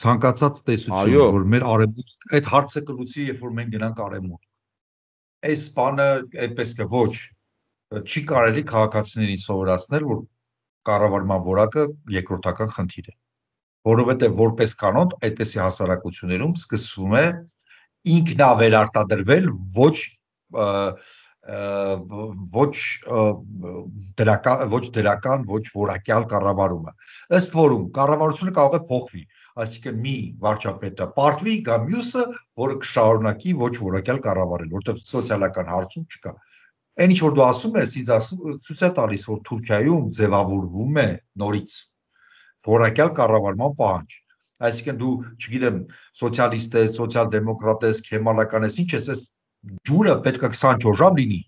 Ցանկացած տեսություն, որ մեր արևմուտք այդ հարցը կլուծի, երբ որ մենք գնանք արևմուտք։ Այս բանը այդպես կը ոչ, չի կարելի քաղաքացիներին սովորացնել, որ կառավարման որակը երկրորդական խնդիր է, որովհետև որպես կանոն այդպիսի հասարակություններում սկսվում է ինքնավերարտադրվել ոչ դրական, ոչ որակյալ կառավարումը, ըստ որում կառավարությունը կարող է փոխվի, այսինքն մի վարչապետը պարտվի գա մյուսը, որը կշարունակի ոչ որակյալ կառավարել, որտեղ սոցիալական հարցում չկա։ Այն ինչ որ դու ասում ես, ինձ ցույց է տալիս, որ Թուրքիայում ձևավորվում է նորից որակյալ կառավարման պահանջ։ Այսինքն դու, չգիտեմ, սոցիալիստ ես, սոցիալ-դեմոկրատ ես, քեմալական ես, ինչ ես, այս ջուրը պետք է 24 ժամ լինի։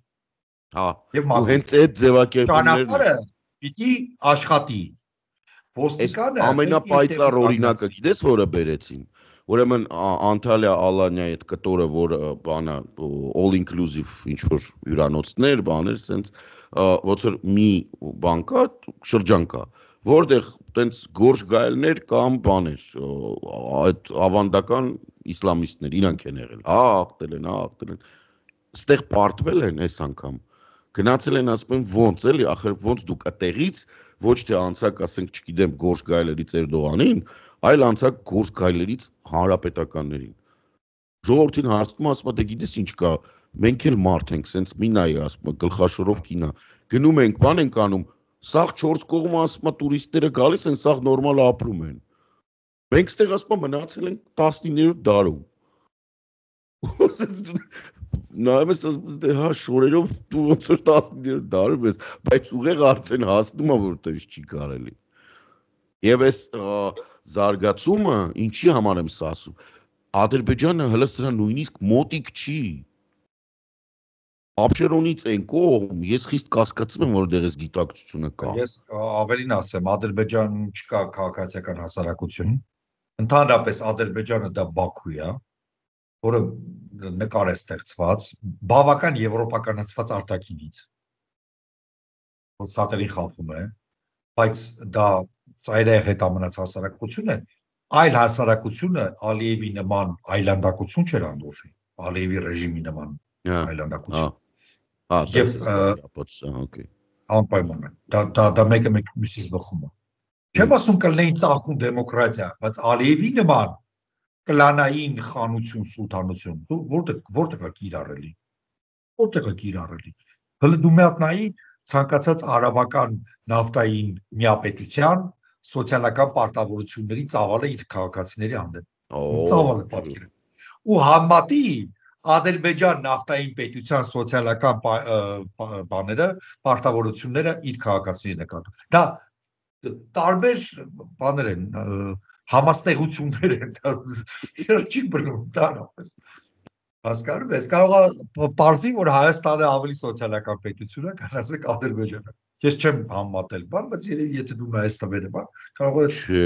Հա, ու հենց այդ ձևակերպումներն ճանապարհը պիտի աշխատի։ Ոստիկանը ամենապայծառ օրինակը գիտես որը բերեցին։ Ուրեմն Անտալիա Ալանյայի այդ կտորը, որ բանը all inclusive ինչ որ հյուրանոցներ, բաներ, սենց ոնց որ մի բան կա, շրջան կա, որտեղ տենց գորշ գայելներ կամ բաներ, այդ ավանդական իսլամիստներ իրանք են եղել։ Աղտել են։ Ստեղ պարտվել են այս անգամ։ Գնացել են ասում են ոնց էլի, ախր ոնց դուք այդտեղից ոչ թե անցակ, ասենք, չգիտեմ, գորշ գայլերից Էրդողանին, այլ անցակ գորշ գայլերից հանրապետականներին։ Ժողովրդին հարցնում ասում դե գիտես ինչ կա, մենք էլ մարդ ենք, սենց մի նայի ասում գլխաշորով կինա։ Գնում ենք, բան ենք անում, սաղ 4 կողմը ասում տուրիստները գալիս են, սաղ նորմալ ապրում են։ Մենք ստեղ ասում մնացել ենք 19-րդ դարում։ Նայում ես ասում դե հա շորերով դու ոնց որ 19-րդ դարում ես, բայց ուղեղ արդեն հասնում է որտեղ չի կարելի։ Եվ այս զարգացումը ինչի համար եմ սա ասում։ Ադրբեջանը հələ սրա նույնիսկ մոտիկ չի։ Աբշերոնից են կողմ, ես խիստ կասկածում եմ, որ դեղես գիտակցությունը կա։ Ես ավելին ասեմ, Ադրբեջանում չկա քաղաքացիական հասարակություն։ Ընդհանրապես Ադրբեջանը դա Բաքու է, որը նկար է ստեղծված, բավական եվրոպականացված արտաքինից, որ շատերին խափում է, բայց դա ծայրահեղ հետամնաց հասարակություն է, այլ հասարակությունը Ալիևի նման այլանդակություն չէր անդորժի, Ալիևի ռեժիմի նման այլանդակություն։ Անպայման է, դա մեկը մյուսից բխում է։ Չեմ ասում կլինեին ծաղկուն դեմոկրատիա, բայց Ալիևի նման կլանային խանություն, սուլթանություն, որտեղ է կիրառելի։ Որտեղ է կիրառելի։ Հələ դու մի հատ նայի ցանկացած արաբական նավթային միապետության սոցիալական պարտավորությունների ծավալը իր քաղաքացիների հանդեպ։ Ծավալը պատկերը։ Ու համատի Ադրբեջան նավթային պետության սոցիալական բաները, պարտավորությունները իր քաղաքացիների նկատմամբ։ Դա տարբեր բաներ են, համաստեղություններ են, չի բռնում դրանպես։ Հասկանում ես, կարող է պարզի, որ Հայաստանը ավելի սոցիալական պետություն է, քան ասենք Ադրբեջանը։ Ես չեմ համատել բան, բայց երևի եթե դու նայես տվերը բան, կարող է չէ,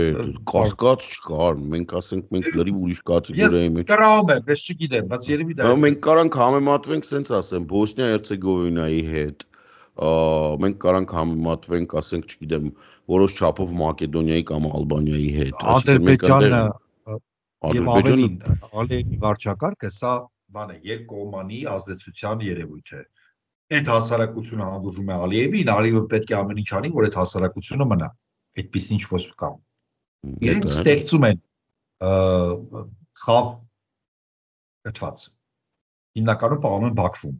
կասկած չկար, մենք ասենք մենք լրիվ ուրիշ կատեգորիայի մեջ։ Ես կրաում եմ, ես չգիտեմ, բայց երևի դա։ Մենք կարանք համեմատվենք, սենց ասեմ, Բոսնիա-Հերցեգովինայի հետ, մենք կարանք համեմատվենք, ասենք, չգիտեմ, որոշ չափով Մակեդոնիայի կամ Ալբանիայի հետ։ Ադրբեջանը Եվ ավելին, Ալիևի վարչակարգը սա բան է, երկկողմանի ազդեցության երևույթ է։ Այդ հասարակությունը հանդուրժում է Ալիևին, Ալիևը պետք է ամեն ինչ անի, որ այդ հասարակությունը մնա։ Այդպես ինչ-որ կա։ Իրենք ստեղծում են խավ կթված։ Հիմնականում պահում են Բաքվում։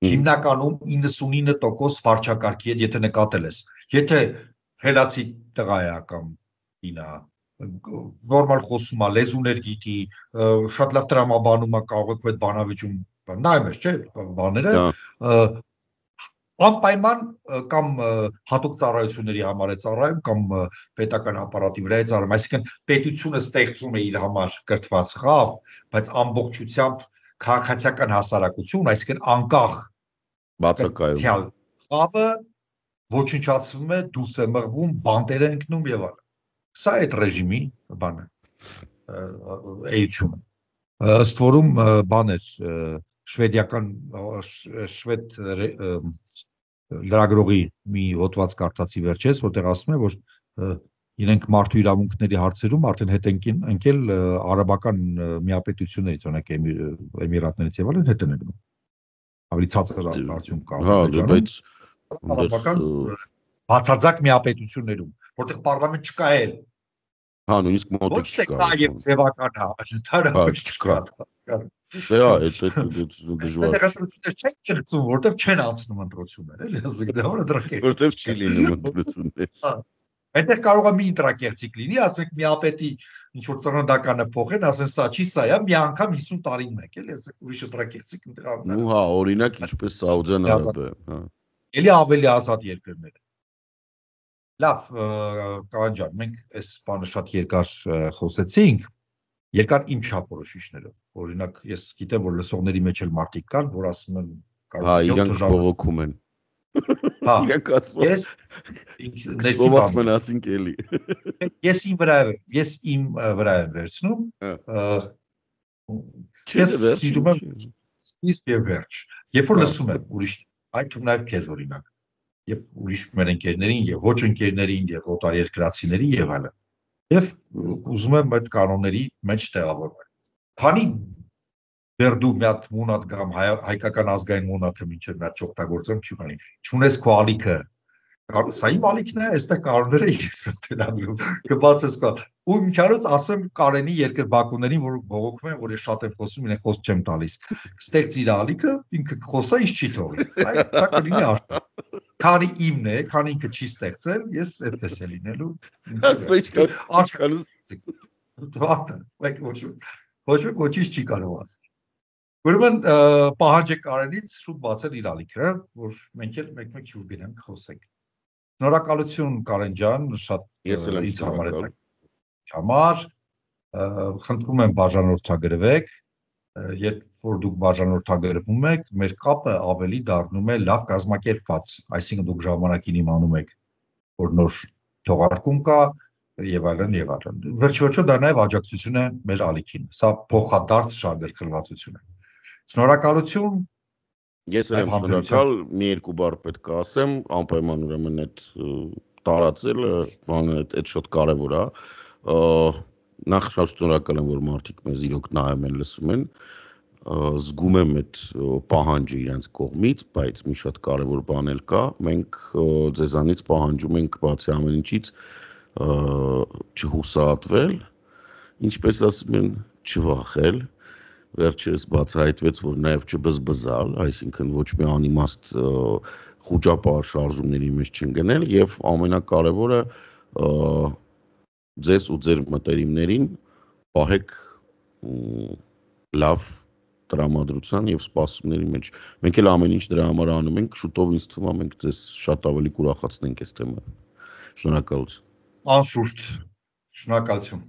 Հիմնականում 99% վարչակարգի հետ, եթե նկատել ես, եթե հելացի տղա է կամ ինա նորմալ խոսում է, լեզուներ գիտի, շատ լավ տրամաբանում է, կարող է այդ բանավիճում նայում ես, չէ, բաները, անպայման կամ հատուկ ծառայությունների համար է ծառայում, կամ պետական ապարատի վրա է ծառայում, այսինքն պետությունը ստեղծում է իր համար կրթված խավ, բայց ամբողջությամբ քաղաքացիական հասարակություն, այսինքն անկախ բացակայում խավը ոչնչացվում է, դուրս է մղվում, բանտեր է ընկնում եւ այլն։ Սա է այդ ռեժիմի բանը, էությունը։ Ըստ որում բան էր, շվեդ լրագրողի մի հոդված կարդացի վերջերս, որտեղ ասում է, որ իրենք մարդու իրավունքների հարցերում արդեն հետ ընկել արաբական միապետություններից, օրինակ Էմիրատներից եւ այլն հետ են ընկնում։ Ավելի ցածր արդյունք կա բայց արաբական բացարձակ միապետություններում, որտեղ պարլամենտ չկա էլ։ Հա, նույնիսկ մոտիկ չկա։ Ոչ թե կա եւ ձևական ընդհանրապես չկա։ Դա է, դժվար։ Ընտրություններ չեն ճգծում, որտեղ չեն անցնում ընտրություններ, էլի, ասեք դա որը դրակերտ։ Որտեղ չի լինում ընտրություններ։ Այնտեղ կարող է մի ընտրակերտիկ լինի, ասենք միապետի ինչ որ ծննդականը փոխեն, ասեն սա չի, սա է, մի անգամ 50 տարին մեկ, էլի, ասեք ուրիշ ընտրակերտիկ ընտրավ։ Ու հա, օրինակ ինչպես Սաուդյան Արաբիա, հա։ Էլի ավելի ազատ երկրներ։ Լավ, Կանան ջան, մենք այս բանը շատ երկար խոսեցինք, երկար իմ չափորոշիչներով։ Օրինակ, ես գիտեմ, որ լսողների մեջ էլ մարդիկ կան, որ ասում են, հա, իրանք բողոքում են։ Հա, իրանք ասում ես սոված մնացինք էլի։ Ես իմ վրա եմ վերցնում, ես սիրում եմ սկիզբ եւ վերջ։ Երբ որ լսում եմ ուրիշ, այդ թվում նաև քեզ օրինակ, եւ ուրիշ մեր ընկերներին եւ ոչ ընկերներին եւ օտարերկրացիների եւ այլն։ Եվ ուզում եմ այդ կանոնների մեջ տեղավորվել։ Քանի դեռ դու մի հատ մունատ կամ հայկական ազգային մունատը մինչև մի հատ չօգտագործեմ, չի բանի։ Չունես քո ալիքը։ Սա իմ ալիքն է, այստեղ կանոնները ես եմ դրանում։ Կբացես կա։ Ու միջանոց ասեմ Կարենի երկրբակուներին, որ բողոքում են, որ ես շատ եմ խոսում, իրենք խոսք չեմ տալիս։ Ստեղծ իր ալիքը, ինքը խոսա, ինչ չի թողի։ Դա կլինի արտահայտ։ Քանի իմն է, քանի ինքը չի ստեղծել, ես այդպես է լինելու։ Ոչ ոչինչ չի կարող ասել։ Ուրեմն պահանջ է Կարենից շուտ բացել իր ալիքը, որ մենք էլ մեկ-մեկ հյուր գնանք խոսենք։ Շնորհակալություն Կարեն ջան, շատ ինձ համար խնդրում եմ բաժանորդագրվեք, երբ որ դուք բաժանորդագրվում եք, մեր կապը ավելի դառնում է լավ կազմակերպված, այսինքն դուք ժամանակին իմանում եք, որ նոր թողարկում կա եւ այլն եւ այլն։ Վերջ-վերջո դա նաեւ աջակցություն է մեր ալիքին։ Սա փոխադարձ շահագրգռվածություն է։ Շնորհակալություն։ Ես եմ շնորհակալ, մի երկու բառ պետք է ասեմ, անպայման ուրեմն այդ տարածելը, բանը այդ շատ կարևոր է։ Նախ շատ շնորհակալ եմ, որ մարդիկ մեզ իրոք նայում են, լսում են, զգում եմ այդ պահանջը իրենց կողմից, բայց մի շատ կարևոր բան էլ կա, մենք ձեզանից պահանջում ենք բացի ամեն ինչից չհուսահատվել, ինչպես ասում են, չվախել, վերջերս բացահայտվեց, որ նաև չբզբզալ, այսինքն ոչ մի անիմաստ խուճապար շարժումների մեջ չընկնել եւ ամենակարևորը ձեզ ու ձեր մտերիմներին պահեք լավ տրամադրության եւ սպասումների մեջ։ Մենք էլ ամեն ինչ դրա համար անում ենք, շուտով ինձ թվում է մենք ձեզ շատ ավելի կուրախացնենք այս թեմայով։ Շնորհակալություն։ Անշուշտ, շնորհակալություն։